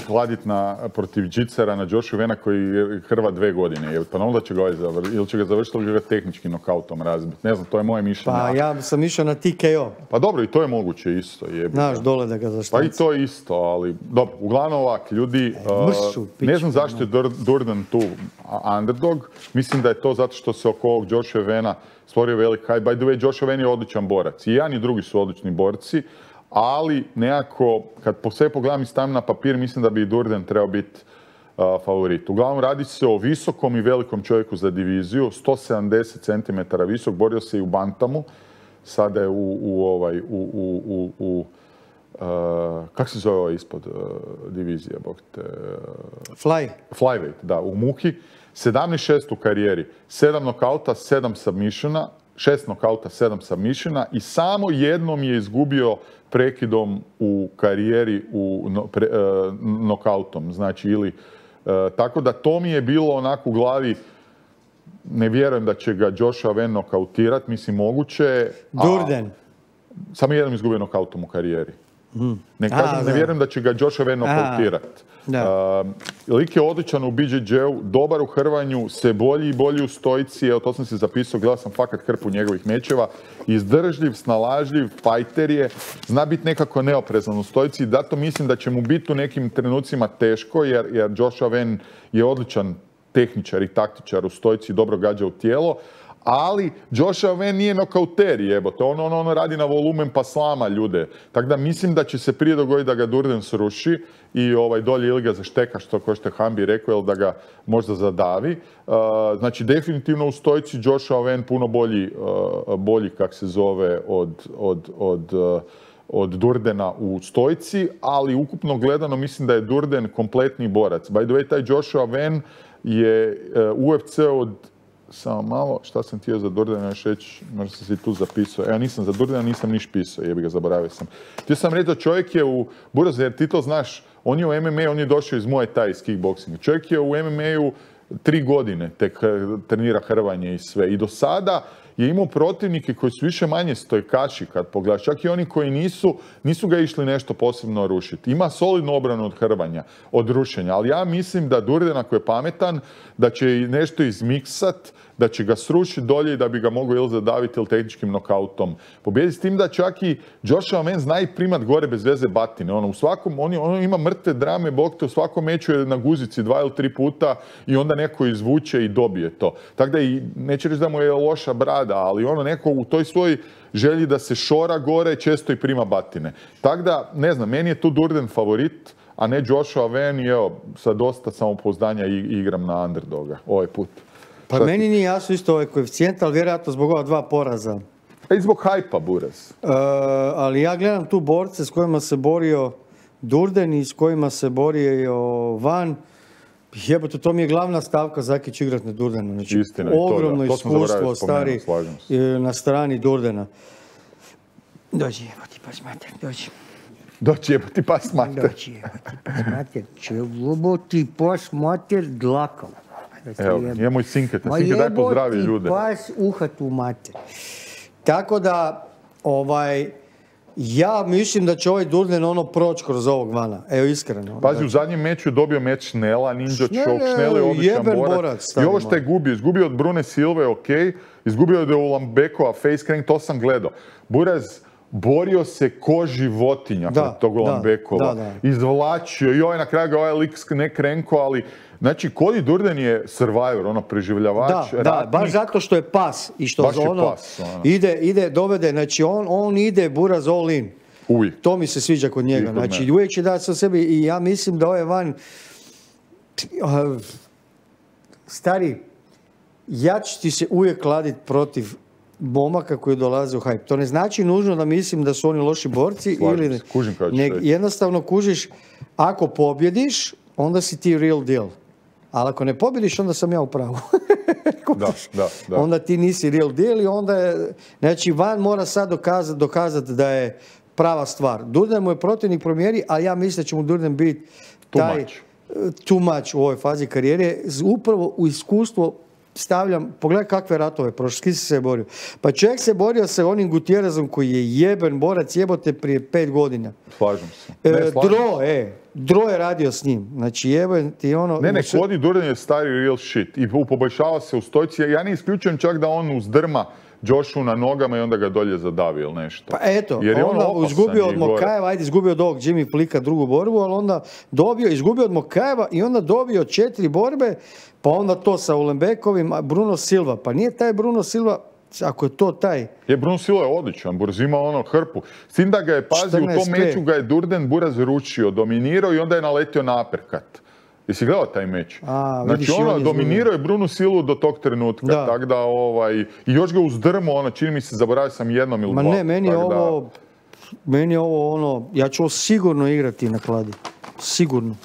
hladit na, protiv Džicera na Joshua Vena koji je hrva dve godine. Je, pa onda će ga ovaj završiti, ili će ga završiti ili će ga tehnički nokautom razbiti. Ne znam, to je moje mišljenje. Pa ja sam išao na T K O. Pa dobro, i to je moguće isto. Jebi. Znaš, dole da ga Pa i zaštanci. to je isto, ali dobro, uglavnom ovak, ljudi, uh, mršu, ne pičku, znam zašto je Dur- Durden tu a- underdog, mislim da je to zato što se oko ovog Joshua Vena stvorio velik hype. By the way, Joshua Ven je odličan borac, i jedan i drugi su odlični borci, ali nekako, kad po sve pogledam i stavim na papir, mislim da bi i Durden trebao biti uh, favorit. Uglavnom, radi se o visokom i velikom čovjeku za diviziju, sto sedamdeset centimetara visok, borio se i u bantamu, sada je u, u ovaj, u, u, u, u Uh, kako se zove ovo ispod uh, divizije, bog te... Uh, Fly. flyweight, da, u Muki. sedamnaest šest u karijeri. sedam nokauta, sedam submissiona, šest nokauta, sedam submissiona i samo jednom je izgubio prekidom u karijeri u no, pre, uh, nokautom. Znači, ili... Uh, tako da to mi je bilo onako u glavi, ne vjerujem da će ga Joshua Ven nokautirati, mislim moguće. Durden. A, samo jednom izgubio nokautom u karijeri. Mm. Ne, kažem, A, ne da. vjerujem da će ga Joshua Ven nokautirati. Da. Uh, lik je odličan u B J J-u, dobar u hrvanju, sve bolji i bolji u stojci, evo to sam si zapisao, gledao sam fakat hrpu njegovih mečeva, izdržljiv, snalažljiv, fajter je, zna biti nekako neoprezan u stojci i zato mislim da će mu biti u nekim trenucima teško, jer, jer Joshua Ven je odličan tehničar i taktičar u stojci, dobro gađa u tijelo, ali Joshua Ven nije nokauter, jebote, on, on, on radi na volumen pa slama ljude. Tako da mislim da će se prije dogoditi da ga Durden sruši i ovaj, dolje ili ga zašteka, što ko što je Hambi rekao, ili da ga možda zadavi. Uh, znači, definitivno u stojci Joshua Ven puno bolji, uh, bolji kak se zove, od, od, od, uh, od Durdena u stojci, ali ukupno gledano mislim da je Durden kompletni borac. By the way, taj Joshua Van je U F C od, samo malo, šta sam htio za Durdena još reći, možda sam si tu zapisao. Evo, nisam za Durdena, nisam niš pisao, jebi ga, zaboravio sam. Htio sam reći da čovjek je u Buraz, jer ti to znaš, on je u M M A, on je došao iz Muay Thai, iz kickboxinga. Čovjek je u M M A-u tri godine tek trenira hrvanje i sve. I do sada je imao protivnike koji su više manje stojkaši kad pogledaš. Čak i oni koji nisu, nisu ga išli nešto posebno rušiti. Ima solidnu obranu od hrvanja, od rušenja. Ali ja mislim da Durden, ako je pametan, da će nešto izmiksat, da će ga srušiti dolje i da bi ga mogao ili zadaviti ili tehničkim nokautom pobijediti. S tim da čak i Joshua Man zna i primat gore bez veze batine. Ono, u svakom, on, on ima mrtve drame, bog te, u svakom meču je na guzici dva ili tri puta i onda neko izvuče i dobije to. Tako da i, neće reći da mu je loša brada, ali ono neko u toj svojoj želji da se šora gore često i prima batine. Tako da, ne znam, meni je tu Durden favorit, a ne Joshua Van i evo, sa dosta samopouzdanja igram na underdoga ovaj put. Pa Šta meni ti... nije jasno isto ovaj koeficijent, ali vjerojatno zbog ova dva poraza. A i zbog hajpa, Buraz. Uh, ali ja gledam tu borce s kojima se borio Durden i s kojima se borio Van. Jebote, to mi je glavna stavka Zakić igrat na Durdenu. Znači, Istina, ogromno to, da. to iskustvo stari na strani Durdena. Dođi, evo ti pas mater, dođi. Dođi, evo ti pas mater. Dođi, evo ti pas mater. Čevo ti pas mater dlakav. Evo, nije moj Sinket. Sinket, daj pozdravi ljude. Ma jebo ti pas uhat u mater. Tako da, ovaj... Ja mislim da će ovaj Durden ono proći kroz ovog Vana. Evo, iskreno. Pazi, znači, u zadnjem meču je dobio meč Šnela, Ninja Choke. Šnel je odličan borac. borac I ovo što je gubio, izgubio od Brune Silve, ok. Izgubio od Ulambekova, face crank, to sam gledao. Buraz borio se ko životinja kod tog Ulambekova. Izvlačio i ovaj na kraju ga ovaj lik ne krenko, ali... Znači, Cody Durden je survivor, ono, preživljavač, da, da, baš zato što je pas i što ono, pas, ono. Ide, ide, dovede, znači on, on ide Buraz all in. Uvijek. To mi se sviđa kod njega, kod znači uvijek će dati sa sebi i ja mislim da ovaj Van, uh, stari, ja ću ti se uvijek kladiti protiv momaka koji dolaze u hype. To ne znači nužno da mislim da su oni loši borci. Slažim ili se, kužim kao ne, jednostavno kužiš, ako pobjediš, onda si ti real deal. Ali ako ne pobjediš, onda sam ja u pravu. da, da, da. Onda ti nisi real deal i onda je... Znači, Van mora sad dokazati dokazat da je prava stvar. Durden mu je protivnik promjeri, a ja mislim da će mu Durden biti taj too much u ovoj fazi karijere. Upravo u iskustvo stavljam, pogledaj kakve ratove prošle, s kim se borio. Pa čovjek se borio sa onim Gutierrezom koji je jeben borac, jebote prije pet godina. Slažem se. Ne, slažem Dro, se. e, Dro je radio s njim. Znači jeben ti ono... Ne, ne, Cody Durden je stari real shit i poboljšava se u stojci. Ja ne isključujem čak da on uzdrma Joshu na nogama i onda ga dolje zadavi ili nešto. Pa eto, jer je onda on izgubio od Mokajeva, ajde izgubio od ovog Jimmy Plika drugu borbu, ali onda dobio, izgubio od Mokajeva i onda dobio četiri borbe, pa onda to sa Ulembekovim, Bruno Silva. Pa nije taj Bruno Silva, ako je to taj... Je, Bruno Silva je odličan, Buraz ima ono hrpu. S tim da ga je, pazi, u tom meču ga je Durden Buraz ručio, dominirao i onda je naletio na uppercut. Jesi gledao taj meč? A, znači vidiš, ono, on dominirao je Brunu Silu do tog trenutka, da. Tak da ovaj, i još ga uzdrmo, ono, čini mi se, zaboravio sam jednom ili Ma dva. Ma ne, meni je ovo, da... meni je ovo ono, ja ću ovo sigurno igrati na kladi, sigurno.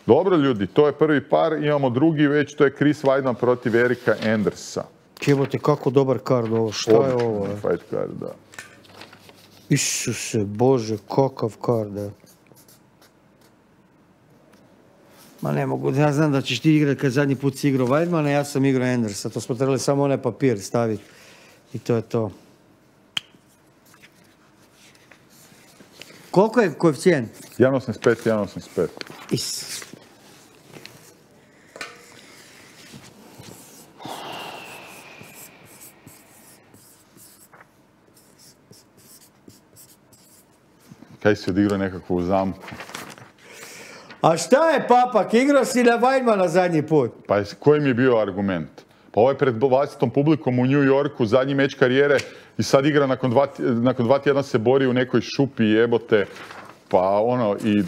Dobro ljudi, to je prvi par, imamo drugi već, to je Chris Weidman protiv Erika Andersa. Jebote, kako dobar kard ovo, šta Odlično, je ovo? Fight card, da. Isuse Bože, kakav kard, je. Ma ne mogu, ja znam da ćeš ti igrati kad zadnji put si igrao Weidmana, ja sam igrao Andersa, to smo trebali samo onaj papir staviti i to je to. Koliko je koeficijent? jedan osamdeset pet, jedan osamdeset pet. Is. Kaj si odigrao nekakvu zamku? A šta je, papak, igrao si na Weidmana zadnji put? Pa koji mi je bio argument? Pa ovo je pred vlastitom publikom u New Yorku, zadnji meč karijere i sad igra nakon dva, nakon dva tjedna se bori u nekoj šupi, jebote. Pa ono, i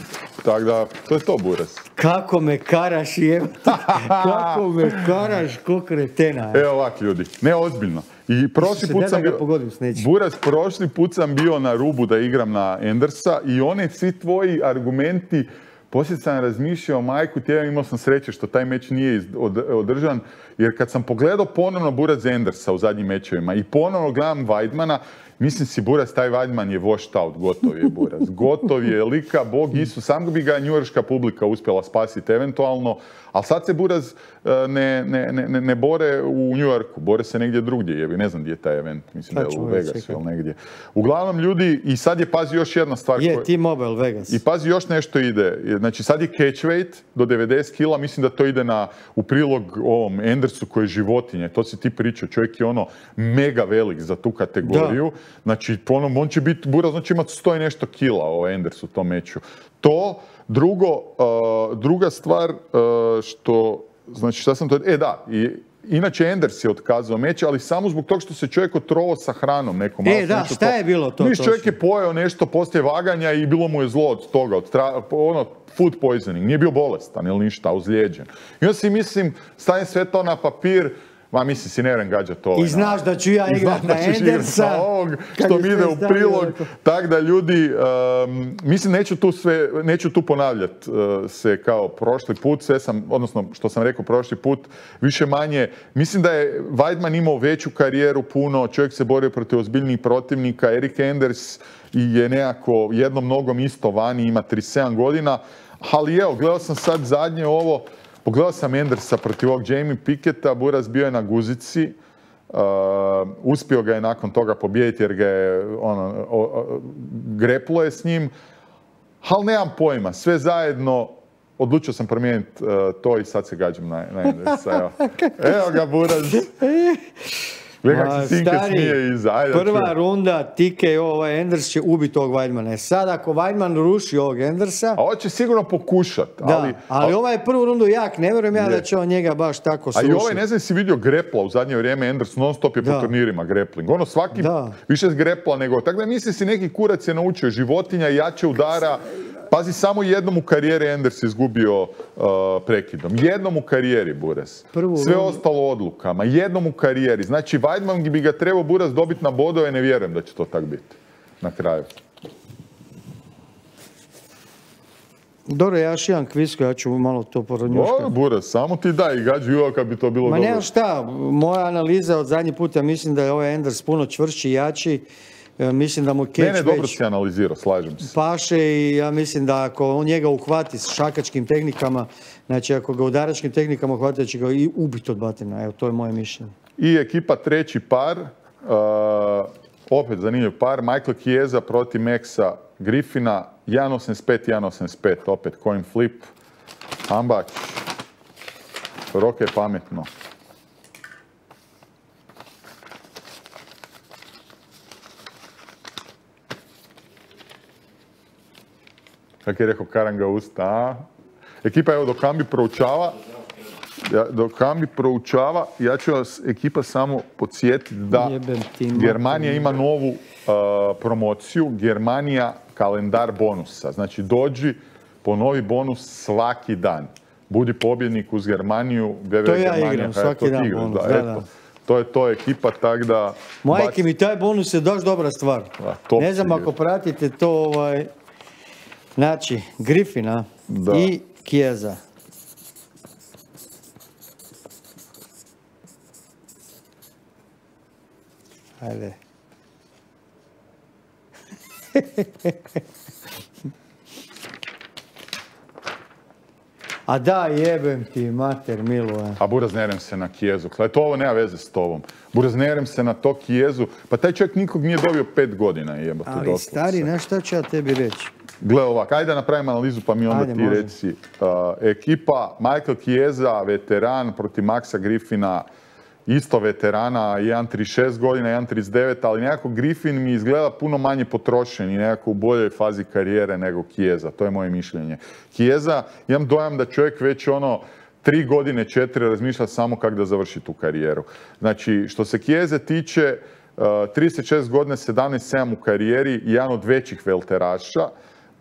tako da, to je to, Buras. Kako me karaš, jebate. Kako me karaš, ko kretena. Evo ovak, ljudi, ne ozbiljno. I prošli put sam bio, Buras, prošli put sam bio na rubu da igram na Endersa i one svi tvoji argumenti, poslije sam razmišljao, majku tjedan, imao sam sreće što taj meč nije održan, jer kad sam pogledao ponovno Buras Endersa u zadnjim mečevima i ponovno gledam Weidmana, mislim si, Buras, taj Weidman je washed out, gotov je Buras. Gotov je lika, Bog Isus, sam bi ga njujorška publika uspjela spasiti eventualno, ali sad se Buras ne, ne, ne, ne bore u New Yorku, bore se negdje drugdje, jebi, ne znam gdje je taj event, mislim da je u Vegasu ili negdje. Uglavnom ljudi, i sad je, pazi, još jedna stvar. Je, T-Mobile Vegas. I pazi, još nešto ide, znači sad je catch weight do devedeset kila, mislim da to ide na, u prilog ovom Endersu koji je životinje, to si ti pričao, čovjek je ono mega velik za tu kategoriju. Da. Znači, ono, on će biti, Buras, on će imati sto i nešto kila o Endersu u tom meču. To, drugo, uh, druga stvar, uh, što, znači, šta sam to, e da, i, inače Enders je otkazao meč, ali samo zbog toga što se čovjek otrovao sa hranom nekom. E, da, šta to, je bilo to? Niš, čovjek je pojeo nešto poslije vaganja i bilo mu je zlo od toga, od tra, ono, food poisoning, nije bio bolestan ili ništa, ozlijeđen. I onda si, mislim, stavim sve to na papir, ma mislim si ne vjerujem gađa to. I znaš da ću ja igrat na Endersa. Ovog što mi ide u prilog. Tako da ljudi, um, mislim neću tu sve, neću tu ponavljati uh, se kao prošli put, sve sam, odnosno što sam rekao prošli put, više manje, mislim da je Weidman imao veću karijeru puno, čovjek se borio protiv ozbiljnih protivnika, Erik Enders je nekako jednom nogom isto vani, ima trideset sedam godina, ali evo, gledao sam sad zadnje ovo, pogledao sam Endersa protiv ovog Jamie Picketta, Buras bio je na guzici, uh, uspio ga je nakon toga pobijediti jer ga je, ono, o, o, greplo je s njim, ali nemam pojma, sve zajedno, odlučio sam promijeniti uh, to i sad se gađam na, na Endersa, evo. Evo ga, Buras. Gledaj kako se Sinke smije iza. Ajde, prva čujem. Runda, T K O, ovaj Enders će ubiti ovog Weidmana. Sad ako Weidman ruši ovog Endersa... A on će sigurno pokušat. Da, ali, ali ovaj prvu rundu jak, ne vjerujem ja je. Da će on njega baš tako srušiti. A i ovaj, ne znam si vidio grepla u zadnje vrijeme, Enders non stop je da. Po turnirima grepling. Ono svaki da. Više grepla nego... Tako da misli si neki kurac je naučio, životinja, jače udara. Pazi, samo jednom u karijeri Enders izgubio uh, prekidom. Jednom u karijeri, Buras. Prvu Sve rundu. Ostalo odlukama. Jednom u karijeri. Znači, Weidman bi ga trebao, Buras, dobiti na bodove, ne vjerujem da će to tak biti. Na kraju. Dobro, ja još jedan kvisko, ja ću malo to porodnjuškati. Dobro, Buras, samo ti daj i gađu uvijek kad bi to bilo Ma dobro. Ma nema šta, moja analiza od zadnji puta, mislim da je ovaj Enders puno čvršći i jači. Mislim da mu catch ne, ne, dobro si analizirao, slažem se. Paše i ja mislim da ako on njega uhvati s šakačkim tehnikama, znači ako ga udaračkim tehnikama uhvati, će ga i ubiti od batina. Evo, to je moje mišljenje. I ekipa treći par, uh, opet zanimljiv par, Michael Chiesa protiv Maxa Griffina, jedan osamdeset pet, jedan osamdeset pet, opet coin flip, Ambać, Roke pametno. Kako je rekao Karanga usta, a? Ekipa, evo, dok Kambi proučava, ja, dok Kambi proučava, ja ću vas, ekipa, samo podsjetiti da Germanija ima novu uh, promociju, Germanija kalendar bonusa. Znači, dođi po novi bonus svaki dan. Budi pobjednik uz Germaniju. To ja Germanija, igram, svaki dan igraš, bonus, da, da, da. To je to ekipa, tak da... Majke mi, taj bonus je doš dobra stvar. Da, ne znam ako pratite to, ovaj... Znači, Griffina da. I Chiesa. Ajde. A da, jebem ti, mater, Miluje. A buraznerem se na Chiesu. To ovo nema veze s tobom. Buraznerem se na to Chiesu. Pa taj čovjek nikog nije dobio pet godina, jebote. Ali stari, znaš šta ću ja tebi reći? Gle ovak, ajde da napravimo analizu pa mi onda ajde, ti možem. Reci. Uh, ekipa Michael Chiesa, veteran protiv Maxa Griffina, isto veterana, jedan trideset šest godina, jedan trideset devet, ali nekako Griffin mi izgleda puno manje potrošen i nekako u boljoj fazi karijere nego Chiesa. To je moje mišljenje. Chiesa, imam dojam da čovjek već ono tri godine, četiri razmišlja samo kako da završi tu karijeru. Znači, što se Chiese tiče, uh, trideset šest godina, sedamnaest sedam u karijeri, jedan od većih velteraša.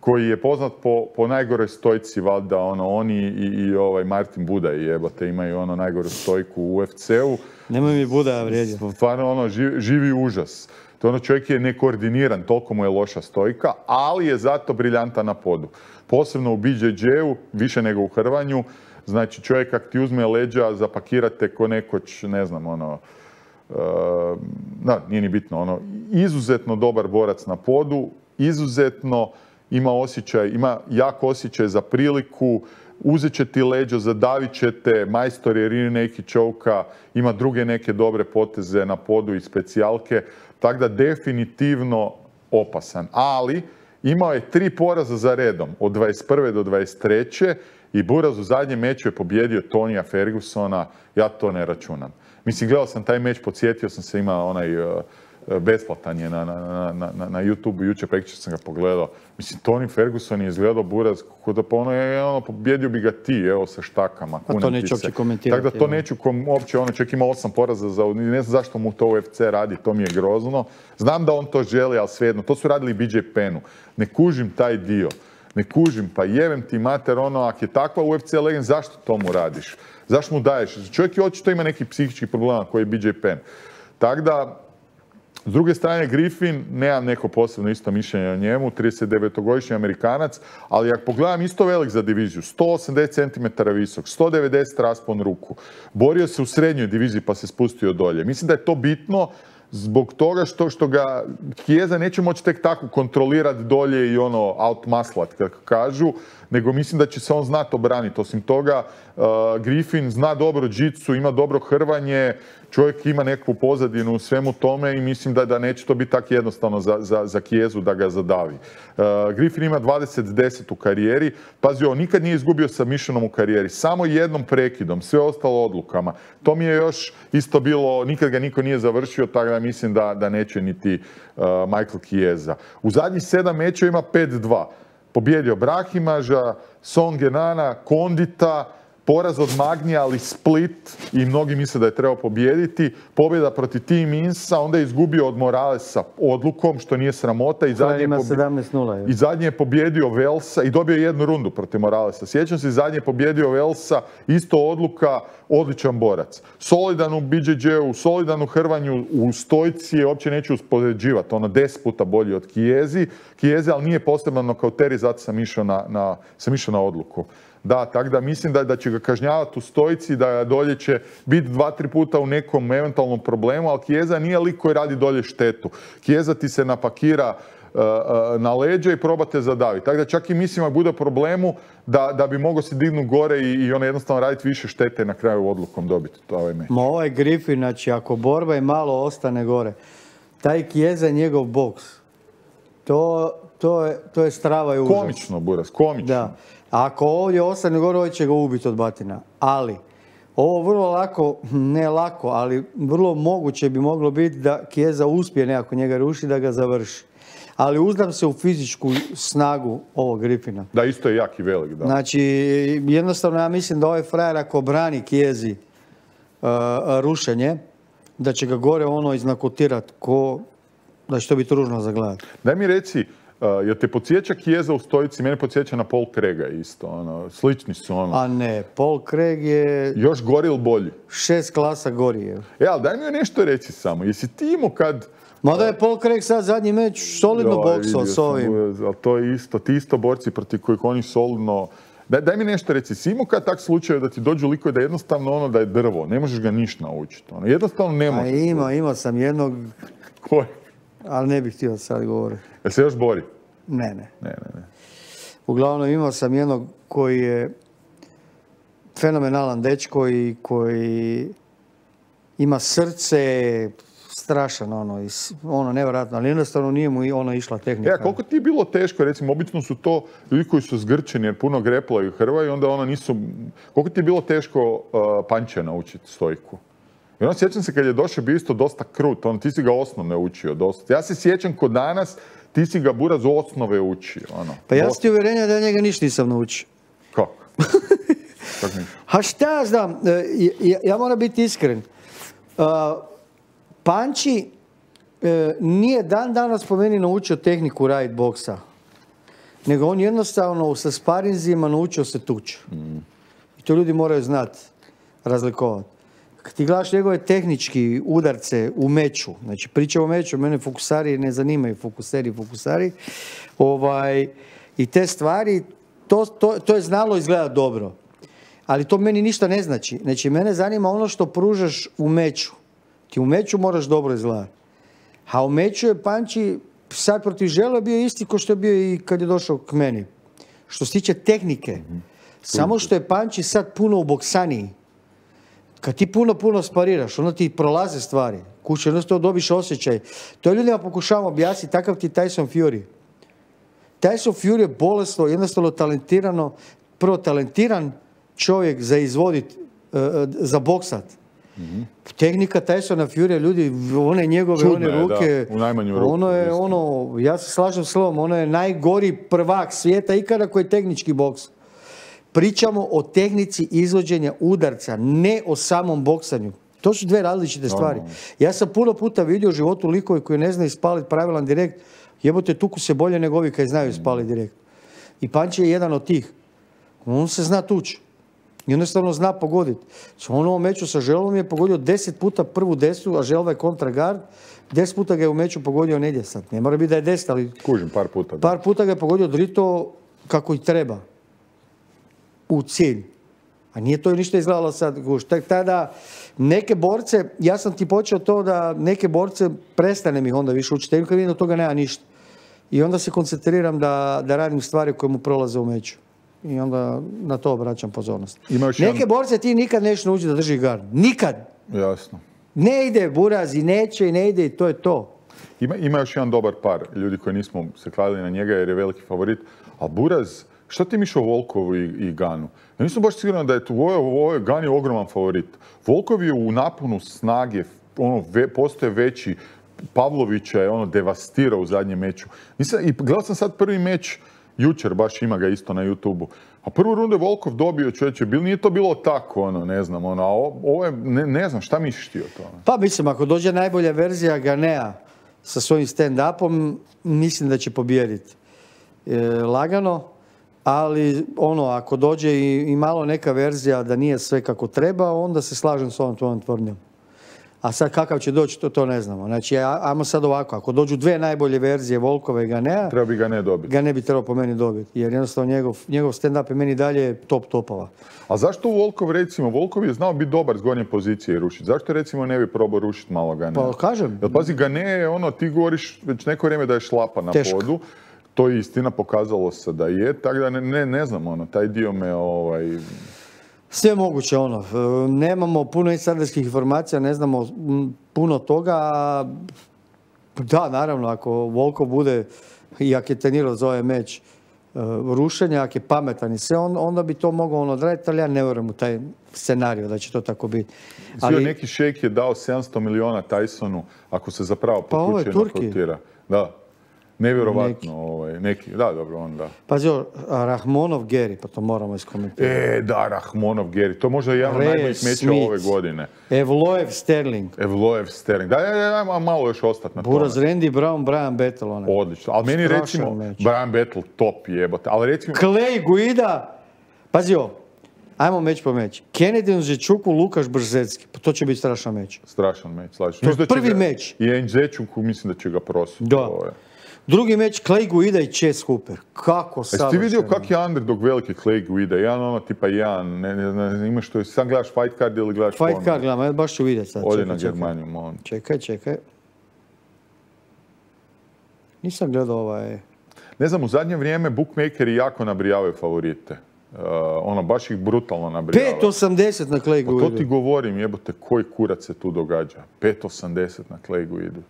koji je poznat po, po najgoroj stojci, valjda, ono, oni i, i ovaj Martin Budaj, jebote, imaju ono najgoru stojku u U F C-u. Nemoj mi Budaja vrijeđati. Stvarno, ono, živi, živi užas. To ono, čovjek je nekoordiniran, toliko mu je loša stojka, ali je zato briljantan na podu. Posebno u B J J-u, više nego u hrvanju. Znači, čovjek kak ti uzme leđa, zapakirate ko nekoć, ne znam, ono, uh, da, nije ni bitno, ono, izuzetno dobar borac na podu, izuzetno ima osjećaj, ima jak osjećaj za priliku, uzet će ti leđo, zadavit će te, majstor je rear naked choke-a, ima druge neke dobre poteze na podu i specijalke, tako da definitivno opasan. Ali imao je tri poraza za redom, od dvadeset prve do dvadeset treće i Buraz u zadnjem meču je pobjedio Tonija Fergusona, ja to ne računam. Mislim, gledao sam taj meč, podsjetio sam se, ima onaj uh, besplatan je na, na, na, na, na YouTube-u, jučer prekjučer sam ga pogledao. Mislim, Toni Ferguson je izgledao Buraz, kako da pa ono je, ono, pobjedio bi ga ti, evo, sa štakama. Pa to neću uopće komentirati. Tako da to neću kom, uopće, ono, čovjek ima osam poraza za, ne znam zašto mu to U F C radi, to mi je grozno. Znam da on to želi, ali svejedno, to su radili B J Pennu. Ne kužim taj dio. Ne kužim, pa jevem ti mater, ono, ako je takva U F C legend, zašto to mu radiš? Zašto mu daješ? Čovjek je očito ima nekih psihičkih problema koji je B J Penn. Tako da, s druge strane, Griffin, nemam neko posebno isto mišljenje o njemu, tridesetdevetogodišnji Amerikanac, ali ako pogledam, isto velik za diviziju, sto osamdeset centimetara visok, sto devedeset raspon ruku, borio se u srednjoj diviziji pa se spustio dolje. Mislim da je to bitno zbog toga što, što ga Chiesa neće moći tek tako kontrolirati dolje i ono outmaslat, kako kažu, nego mislim da će se on znati obraniti. Osim toga, uh, Griffin zna dobro džitsu, ima dobro hrvanje, čovjek ima nekakvu pozadinu u svemu tome i mislim da, da neće to biti tako jednostavno za, za, za Chiesu da ga zadavi. Uh, Griffin ima dvadeset deset u karijeri. Pazi, on nikad nije izgubio submissionom u karijeri. Samo jednom prekidom, sve ostalo odlukama. To mi je još isto bilo, nikad ga niko nije završio, tako da mislim da, da neće niti uh, Michael Chiesa. U zadnjih sedam mečeva ima pet dva. Pobjedio Brahimaža, Songenana, Kondita, poraz od Magnija, ali Split i mnogi misle da je trebao pobijediti. Pobjeda protiv Tim Insa, onda je izgubio od Moralesa odlukom, što nije sramota. I zadnje, ima pobj... sedamnaest nula. I zadnje je pobjedio Velsa i dobio jednu rundu protiv Moralesa. Sjećam se, zadnje je pobjedio Velsa, isto odluka, odličan borac. Solidan u B J J-u, solidan u hrvanju, u stojci je, uopće neću uspoređivati, ono deset puta bolji od Chiesi. Chiesi, ali nije posebno nokauteri, zato sam išao na, na, sam išao na odluku. Da, tako da mislim da, da će ga kažnjavati u stojici, da dolje će biti dva, tri puta u nekom eventualnom problemu, ali Chiesa nije lik koji radi dolje štetu. Chiesa ti se napakira uh, uh, na leđa i probate zadaviti. Tako da čak i mislim da bude problemu da, da bi mogao se dignuti gore i, i ono jednostavno raditi više štete i na kraju odlukom dobiti to ovaj meč. Ma ovaj Griffin, znači ako borba i malo ostane gore, taj Chiesa je njegov boks. To, to, je, to je strava i užas. Komično, Buras, komično. Da. Ako ovdje ostane gore, ovdje će ga ubiti od batina. Ali, ovo vrlo lako, ne lako, ali vrlo moguće bi moglo biti da Chiesa uspije nekako njega ruši, da ga završi. Ali uzdam se u fizičku snagu ovog Griffina. Da, isto je jak i velik, da. Znači, jednostavno ja mislim da ovaj frajer ako brani Chiesi uh, rušenje, da će ga gore ono iznakotirati ko, da će to biti ružno za gledat. Daj mi reci, Uh, jel te podsjeća Chiesa u stojici? Mene podsjeća na Paul Craiga isto, ono, slični su ono. A ne, Paul Craig je... Još gori ili bolji? Šest klasa gori je. E, ali daj mi nešto reći samo. Jesi ti imao kad... Mada je Paul Craig sad zadnji meč solidno boksao s ovim. Ali to je isto, ti isto borci protiv kojih oni solidno... Daj, daj mi nešto reci, si imao kad tak slučaju da ti dođu likovi da jednostavno ono da je drvo, ne možeš ga ništa naučiti. Ono, jednostavno ne možeš. A ima, imao sam jednog... Koji? Ali ne bih htio sad govoriti. Jel se još bori? Ne, ne. Ne, ne, ne. Uglavnom imao sam jednog koji je fenomenalan dečko i koji ima srce strašan, ono, ono nevjerojatno, ali jednostavno nije mu ono išla tehnika. E, a koliko ti je bilo teško, recimo, obično su to ljudi koji su zgrčeni jer puno greplaju i hrvaju i onda ono nisu... Koliko ti je bilo teško uh, panče naučiti stojku? I ono sjećam se kad je došao bio isto dosta krut, on, ti si ga osnovne učio dosta. Ja se sjećam kod danas, ti si ga Buraz osnove učio. Ono, pa ja sam ti uvjerenja da ja njega ništa nisam naučio. Kako? Kako ništa? Ha šta ja znam, ja, ja moram biti iskren. Uh, Panči uh, nije dan danas po meni naučio tehniku right boksa. nego on jednostavno sa sparinzima naučio se tući. Mm. I to ljudi moraju znati, razlikovati. Kad ti gledaš njegove tehnički udarce u meču, znači priča o meču, mene fokusari ne zanimaju, fokuseri, fokusari, ovaj, i te stvari, to, to, to je znalo izgledati dobro. Ali to meni ništa ne znači. Znači, mene zanima ono što pružaš u meču. Ti u meču moraš dobro izgledati. A u meču je Panči sad protiv Žele bio isti kao što je bio i kad je došao k meni. Što se tiče tehnike, mm-hmm. samo što je Panči sad puno u boksaniji. Kad ti puno, puno spariraš, onda ti prolaze stvari. Kuće, jednostavno dobiš osjećaj. To ljudima pokušavam objasniti, takav ti Tyson Fury. Tyson Fury je bolesno, jednostavno talentirano, prvo talentiran čovjek za izvodit, uh, za boksat. Mm-hmm. Tehnika Tysona Fury, ljudi, one njegove, Čudne, one ruke, da, u najmanju ruku, ono je, isto. ono, ja se slažem s slovom, ono je najgori prvak svijeta ikada koji je tehnički boks. Pričamo o tehnici izvođenja udarca, ne o samom boksanju. To su dve različite stvari. Ja sam puno puta vidio u životu likove koji ne znaju ispaliti pravilan direkt, jebote, tuku se bolje nego ovi koji znaju ispaliti direkt. I Panči je jedan od tih. On se zna tući. Jednostavno zna pogoditi. On u ovom meču sa Želvom je pogodio deset puta prvu desnu, a Želva je kontragard. Deset puta ga je u meču pogodio negdje sad. Ne mora biti da je deset, ali... Kužim, par puta. Da. Par puta ga je pogodio drito kako i treba. U cilj. A nije to ništa izgledalo sad. Tek tada neke borce, ja sam ti počeo to da neke borce prestane mi onda više učiti. Kad vidim od toga nema ništa. I onda se koncentriram da, da radim stvari koje mu prolaze u meču. I onda na to obraćam pozornost. Neke jedan... borce ti nikad nećeš naučiti da drži gard. Nikad. Jasno. Ne ide Buraz i neće i ne ide i to je to. Ima, ima još jedan dobar par ljudi koji nismo se kladili na njega jer je veliki favorit. A Buraz, šta ti mišao Volkovu i, i Ganu? Ja nisam baš siguran da je tu, ovo, ovo je Gan je ogroman favorit. Volkov je u naponu snage, ono, ve, postoje veći. Pavlovića je ono devastirao u zadnjem meču. Nisam, i gledao sam sad prvi meč jučer, baš ima ga isto na YouTubeu. A prvu rundu je Volkov dobio, čovječe, bil, nije to bilo tako, ono, ne znam, ono, a ovo je, ne, ne znam, šta misliš ti o tome? Pa mislim, ako dođe najbolja verzija Ganea sa svojim stand-upom, mislim da će pobijediti. E, lagano, ali ono, ako dođe i, i malo neka verzija da nije sve kako treba, onda se slažem s ovom tvojom tvrdnjom. A sad kakav će doći, to, to ne znamo. Znači, ajmo sad ovako, ako dođu dve najbolje verzije Volkova i Ganea, treba bi Gane dobiti. Gane bi trebao po meni dobiti, jer jednostavno njegov, njegov stand-up je meni dalje top topova. A zašto Volkov, recimo, Volkov je znao biti dobar s gornje pozicije i rušiti? Zašto, recimo, ne bi probao rušiti malo Ganea? Pa kažem. Jer pazi, Gane je ono, ti govoriš već neko vrijeme da je šlapa na Teško. Podu. To je istina, pokazalo se da je, tako da ne, ne, ne znam, ono, taj dio me, ovaj... Sve moguće, ono, nemamo puno insiderskih informacija, ne znamo puno toga. Da, naravno, ako Volkov bude, i ako je trenirao za ovaj meč rušenja, ako je pametan i sve, onda bi to mogao on odraditi, ali ja ne vjerujem u taj scenarij da će to tako biti. Ali neki šejk je dao sedamsto miliona Tysonu, ako se zapravo potuče nokotira. Da. Nevjerovatno, neki. Ovaj, neki, da, dobro, on da. Pazi, Rahmonov Geri, pa to moramo iskomentirati. E, da, Rahmonov Geri, to možda je jedan od najboljih mečeva ove godine. Evloev Sterling. Evloev Sterling, da, ja, ja, ja, malo još ostati na tome. Buraz, Randy Brown, Brian Battle, onaj. Odlično, ali meni Strašan recimo, meč. Brian Battle top jebote, ali recimo... Clay Guida, pazi ovo, ajmo meč po meč. Kennedy Nzečuku, Lukaš Brzecki, pa to će biti strašan meč. Strašan meč, slažem. To je prvi ga, meč. I Nzečuku mislim da će ga prositi. Da. Drugi meč, Clay Guida i Chase Hooper. Kako savršeno. Jesi ti vidio kak je underdog veliki Clay Guida? Jedan ono tipa jedan, ne, ne, ne, imaš to, sam gledaš fight card ili gledaš fight porno? Card gledam, ja baš ću vidjeti sad. Odi na Germaniju, molim. Čekaj, čekaj. Nisam gledao ovaj... Ne znam, u zadnje vrijeme bookmakeri jako nabrijavaju favorite. Uh, ono, baš ih brutalno nabrijavaju. pet osamdeset na Clay Guida. Pa to ti govorim, jebote, koji kurac se tu događa. pet osamdeset na Clay Guida.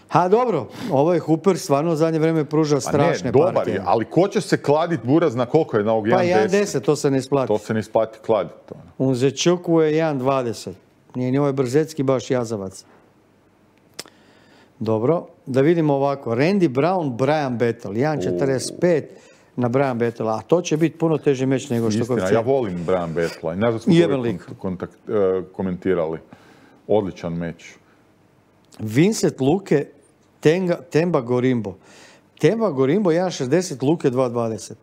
Ha, dobro, ovo je Hooper stvarno u zadnje vrijeme pružao strašne partije. partije. Je, ali ko će se kladit Buraz na koliko je na ovog jedan deset? Pa jedan deset, to se ne isplati. To se ne isplati kladit. U Nzečuku je jedan dvadeset. Nije ni ovaj Brzecki baš jazavac. Dobro, da vidimo ovako. Randy Brown, Brian Battle, jedan četrdeset pet na Brian Battle, a to će biti puno teži meč nego što Istina, ja volim Brian Battle. Znaš da smo to kontakt, uh, komentirali. Odličan meč. Vincent Luke, Tenga, Temba Gorimbo. Temba Gorimbo jedan šezdeset, Luke dva dvadeset.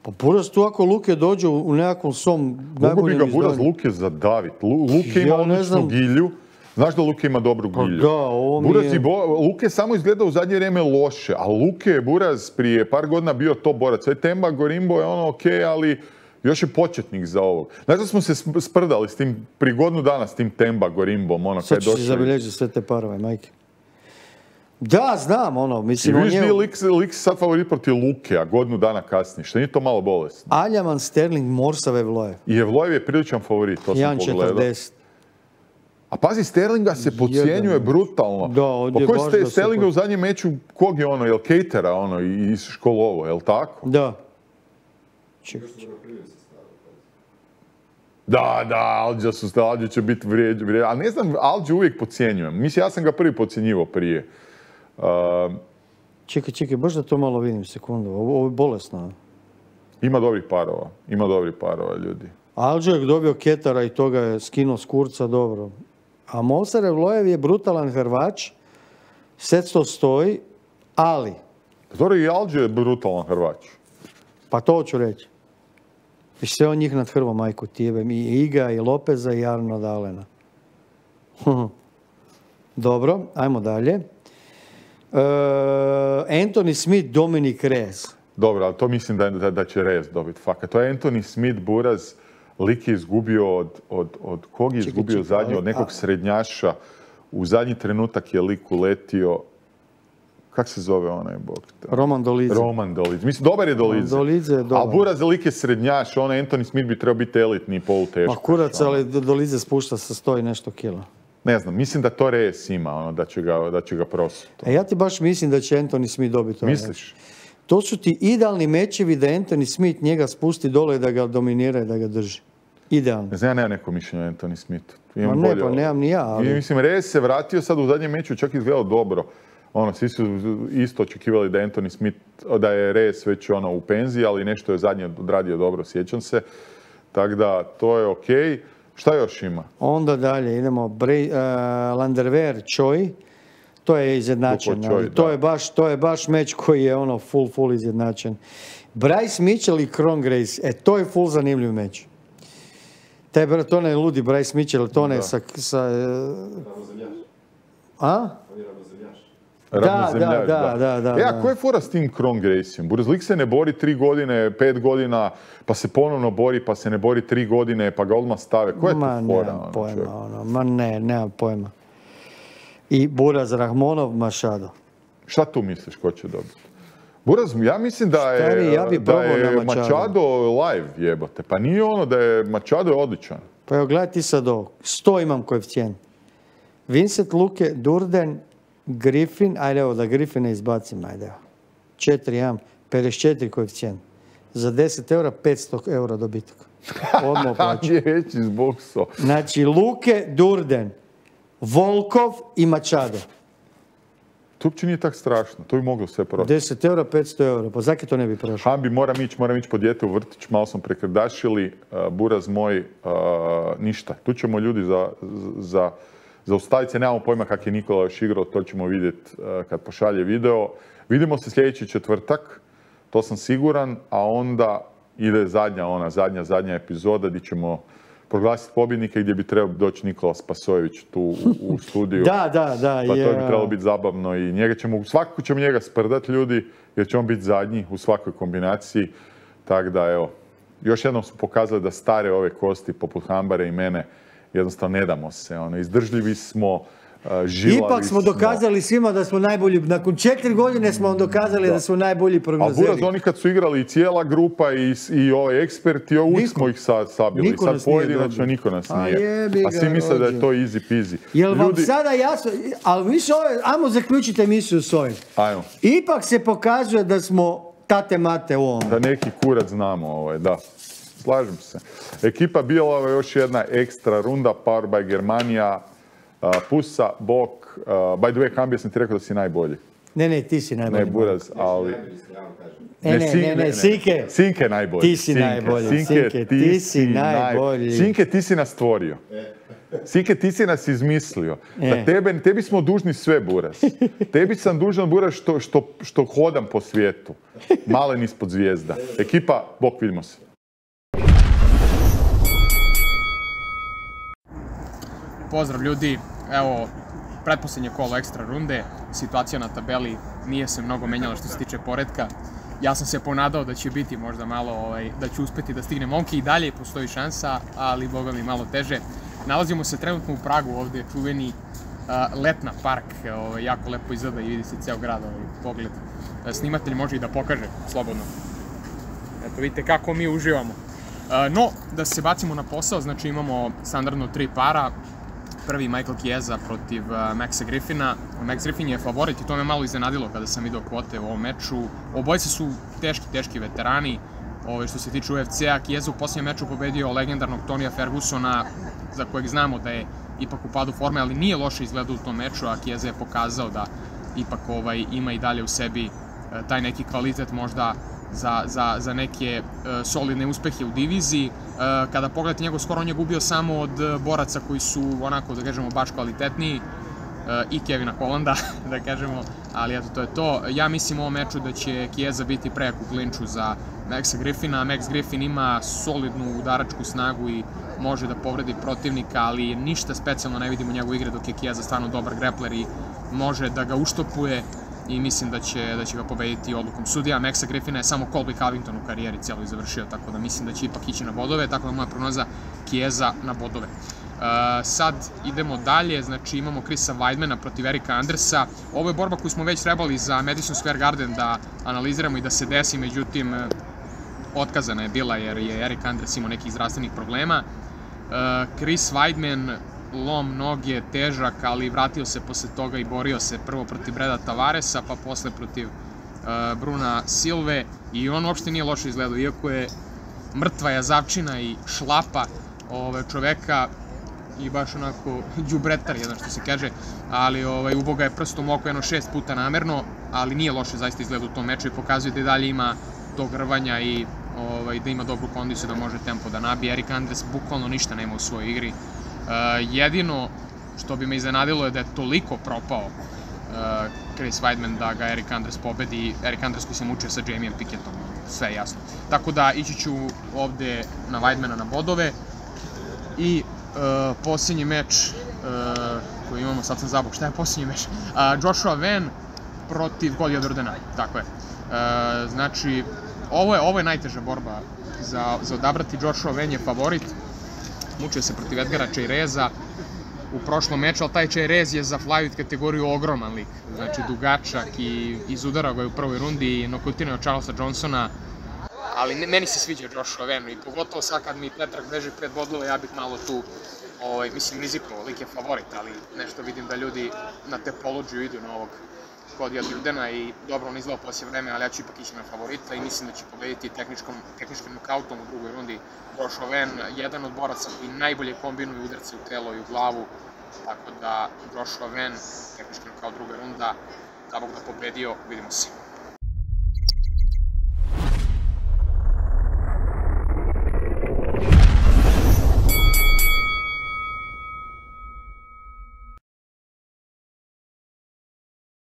Pa Buraz tu ako Luke dođe u, u nekakvom svom Mogu bi najboljem ga Buraz izdanju. Luke zadavit. Lu- Luke ima Ja ne odličnu znam. gilju. Znaš da Luke ima dobru Pa gilju? da, ovo mi Buraz je- i Bo- Luke samo izgleda u zadnje vrijeme loše, a Luke je Buraz prije par godina bio top borac. Sve Temba Gorimbo je ono ok, ali još je početnik za ovog. Znaš da smo se sp- sprdali s tim, pri godinu dana s tim Temba Gorimbom, ono kad Sad je ću si došao. zabilježiti sve te parove, majke. Da, znam, ono, I mislim, on vidiš je... di je lik, lik sad favorit protiv Luke, a godinu dana kasnije, što nije to malo bolesno. Aljaman Sterling Morsave Vloje. I Evlojev je priličan favorit, to sam jedan pogledao. četrdeset. A pazi, Sterlinga se podcjenjuje Jedan. brutalno. Da, ovdje Pa ko baš je Ste- da se Sterlinga pod- u zadnjem meču, kog je ono, jel Catera ono, i- iz školovo, jel tako? Da. Čekaj, Da, da, Alđa su, Alđa će biti vrijeđ, vrijeđ, ali ne znam, Alđa uvijek podcjenjujem. Mislim, ja sam ga prvi podcjenjivao prije. Uh, čekaj, čekaj, baš da to malo vidim, sekundu. Ovo, ovo je bolesno. ima dobrih parova, ima dobrih parova, ljudi. Alđo je dobio Ketara i toga je skinuo s kurca, dobro. A Morsave Vlojev je brutalan Hrvač, sve to stoji, ali, Dobro, i Alđa je brutalan Hrvač. pa to hoću reći. I sve on njih nad Hrvom, majku tijebem, i Iga, i Lopeza, i Arno Dalena. Dobro, ajmo dalje. E, Anthony Smith, Dominik Reyes. Dobro, ali to mislim da, da, da će Rez dobiti. Fakat, to je Anthony Smith, Buraz, lik je izgubio od, od, od kog je Čekaj, izgubio čekaj, zadnji, ali- od nekog a- srednjaša. U zadnji trenutak je lik uletio, kak se zove onaj bog? Roman Dolidze. Roman Dolidze. Mislim, dobar je Dolidze. Dolidze je dobar. Ali Buraz lik je srednjaš, on Anthony Smith bi trebao biti elitni poluteškaš. Ma kurac, ono. ali Dolidze spušta sa sto i nešto kila. Ne znam, mislim da to Reyes ima, ono, da će ga, da će ga prosuti. E, ja ti baš mislim da će Anthony Smith dobiti ovaj meč. Misliš? To su ti idealni mečevi da Anthony Smith njega spusti dole i da ga dominira i da ga drži. Idealno. Ne znam, ja nemam neko mišljenje o Anthony Smithu. Ma Imam ne, bolje pa ovo. nemam ni ja, ali... I mislim, Reyes se vratio sad u zadnjem meču, čak izgledao dobro. Ono, svi su isto očekivali da je Anthony Smith, da je Reyes već ono u penziji, ali nešto je zadnje odradio dobro, sjećam se. Tako da, to je okej. Šta još ima? Onda dalje idemo. Bray, uh, Landerwehr, Choi. To je izjednačen. Lupo Choi, ali to, da. je baš, to je baš meč koji je ono full, full izjednačen. Bryce Mitchell i Kron Grace. E, to je full zanimljiv meč. Taj, br- to ne ludi Bryce Mitchell, to ne Da. sa... sa a? Da, Ravnozemljaš, da, da, da, E, a da. ko je fora s tim Kron Graceom? Burazlik se ne bori tri godine, pet godina, pa se ponovno bori, pa se ne bori tri godine, pa ga odmah stave. Ko je tu Ma, fora? nemam ono, pojma, čovjek? ono, ma ne, nemam pojma. I Buraz Rahmonov, Machado. Šta tu misliš ko će dobiti? Buraz, ja mislim da je, Stari, ja bi da probao je na Machado. Machado live jebote. Pa nije ono da je Machado je odličan. Pa evo, gledaj ti sad ovo. sto imam koeficijent. Vincent Luke, Durden, Griffin, ajde evo da Griffine izbacim, ajde evo. četiri imam, pedeset četiri koeficijent. Za deset eura, petsto eura dobitak. Odmah plaću. Je već iz bokso. Znači, Luke, Durden, Volkov i Machado. To uopće nije tak strašno. To bi moglo sve proći. deset eura, petsto eura. Pa zakaj to ne bi prošlo? Hambi, moram ići, moram ići po dijete u vrtić, malo smo prekrdašili, uh, Buraz moj, uh, ništa. Tu ćemo ljudi za, za, zaustaviti se, nemamo pojma kak je Nikola još igrao, to ćemo vidjeti uh, kad pošalje video. Vidimo se sljedeći četvrtak, to sam siguran, a onda ide zadnja, ona zadnja, zadnja epizoda gdje ćemo proglasiti pobjednike gdje bi trebao doći Nikola Spasojević tu u, u studiju. Da, da, da. Pa to je, bi trebalo biti zabavno i njega ćemo, svakako ćemo njega sprdat ljudi, jer će on biti zadnji u svakoj kombinaciji. Tako da, evo, još jednom su pokazali da stare ove kosti, poput Hambare i mene, jednostavno ne damo se. Ono, izdržljivi smo, uh, žilavi Ipak smo dokazali svima da smo najbolji. Nakon četiri godine smo vam dokazali da, smo najbolji A prognozeri. Buraz, oni kad su igrali i cijela grupa i, i ovaj eksperti, uvijek Niko. smo ih sad sabili. Niko Sad nas nije pojedinačno dobio. niko nas A nije. jebi A ga, svi misle da je rođe. to easy peasy. Jel vam Ljudi, sada jasno, ali više ove, ajmo zaključiti emisiju s ovim. ajmo, Ipak se pokazuje da smo tate mate u ovom. da neki kurac znamo, ovaj, da. Slažem se. Ekipa Bijelova još jedna ekstra runda, Power by Germania, uh, Pusa, Bok, uh, by the way, Hambi, sam ti rekao da si najbolji. Ne, ne, ti si najbolji. Ne Buraz, ali... Ne, ne, Sin- ne, ne, Sinke. Sinke je najbolji. Ti si najbolji, Sinke, ti si najbolji. Sinke, ti si nas stvorio. Sike, ti si nas izmislio. E. Da tebe, tebi smo dužni sve, Buras. Tebi sam dužan, Buras, što, što, što hodam po svijetu. Malen ispod zvijezda. Ekipa, bok, vidimo se. Pozdrav ljudi, evo, pretposljednje kolo ekstra runde, situacija na tabeli nije se mnogo menjala što se tiče poretka. Ja sam se ponadao da će biti možda malo, ovaj, da će uspeti da stigne momke i dalje, postoji šansa, ali boga mi malo teže. Nalazimo se trenutno u Pragu, ovdje je čuveni uh, Letna park, ovaj, jako lepo izgleda i vidi se ceo grad, ovaj, pogled. Snimatelj može i da pokaže, slobodno. Eto, vidite kako mi uživamo. Uh, no, da se bacimo na posao, znači imamo standardno tri para. Prvi Michael Chiesa protiv uh, Maxa Griffina. Max Griffin je favorit i to me malo iznenadilo kada sam vidio kvote u ovom meču. Obojice su teški, teški veterani. Ove, što se tiče U F C-a, Chiesa u posljednjem meču pobedio legendarnog Tonija Fergusona, za kojeg znamo da je ipak u padu forme, ali nije loše izgledao u tom meču, a Chiesa je pokazao da ipak ovaj, ima i dalje u sebi uh, taj neki kvalitet možda za, za, za neke uh, solidne uspehe u diviziji. Uh, kada pogledate njegov skor, on je gubio samo od uh, boraca koji su onako, da kažemo, baš kvalitetniji uh, i Kevina Hollanda, da kažemo, ali eto, to je to. Ja mislim u ovom meču da će Chiesa biti prejak u klinču za Maxa Griffina. Max Griffin ima solidnu udaračku snagu i može da povredi protivnika, ali ništa specijalno ne vidimo u njegovoj igre, dok je Chiesa stvarno dobar grepler i može da ga uštopuje i mislim da će, da će ga pobediti odlukom sudija. Maxa Griffina je samo Colby Covington u karijeri cijeloj završio, tako da mislim da će ipak ići na bodove, tako da moja prognoza Chiesa na bodove. Uh, sad idemo dalje, znači imamo Chrisa Weidmana protiv Erika Andersa. Ovo je borba koju smo već trebali za Madison Square Garden da analiziramo i da se desi, međutim otkazana je bila jer je Erik Anders imao nekih zdravstvenih problema. Uh, Chris Weidman, lom noge, težak, ali vratio se posle toga i borio se prvo protiv Breda Tavaresa, pa posle protiv uh, Bruna Silve i on uopšte nije loše izgledao, iako je mrtva jazavčina i šlapa ove, čoveka i baš onako đubretar jedan što se kaže, ali ovaj, uboga je prstom oko jedno šest puta namerno, ali nije loše zaista izgleda u tom meču i pokazuje da i dalje ima tog rvanja i ovaj, da ima dobru kondiciju da može tempo da nabije. Erik Anders bukvalno ništa nema u svojoj igri. Uh, jedino što bi me iznenadilo je da je toliko propao uh, Chris Weidman da ga Erik Anders pobedi. Erik Anders koji se mučio sa Jamiem Pickettom, sve je jasno. Tako da ići ću ovde na Weidmana na bodove i uh, posljednji meč uh, koji imamo, sad sam zabog, šta je posljednji meč? Uh, Joshua Van protiv Cody Jordana, tako je. Uh, znači, ovo je, ovo je najteža borba za, za odabrati. Joshua Van je favorit. Mučio se protiv Edgara Chaireza u prošlom meču, ali taj Chairez je za flyweight kategoriju ogroman lik. Znači, dugačak i izudarao ga je u prvoj rundi i nokautirao Charlesa Johnsona. Ali ne, meni se sviđa Joshua Van i pogotovo sad kad mi Petrag beže pred bodove, ja bih malo tu, ovaj, mislim, rizikovao, lik je favorit, ali nešto vidim da ljudi na Tapologiju idu na ovog Codya Jordana i dobro on izgleda poslije vreme, ali ja ću ipak ići na favorita i mislim da će pobediti tehničkom, tehničkim nokautom u drugoj rundi. Joshua Van, jedan od boraca koji najbolje kombinuju udarce u telo i u glavu, tako da Joshua Van, tehnički nokaut druga runda, da Bog da pobedio, vidimo se.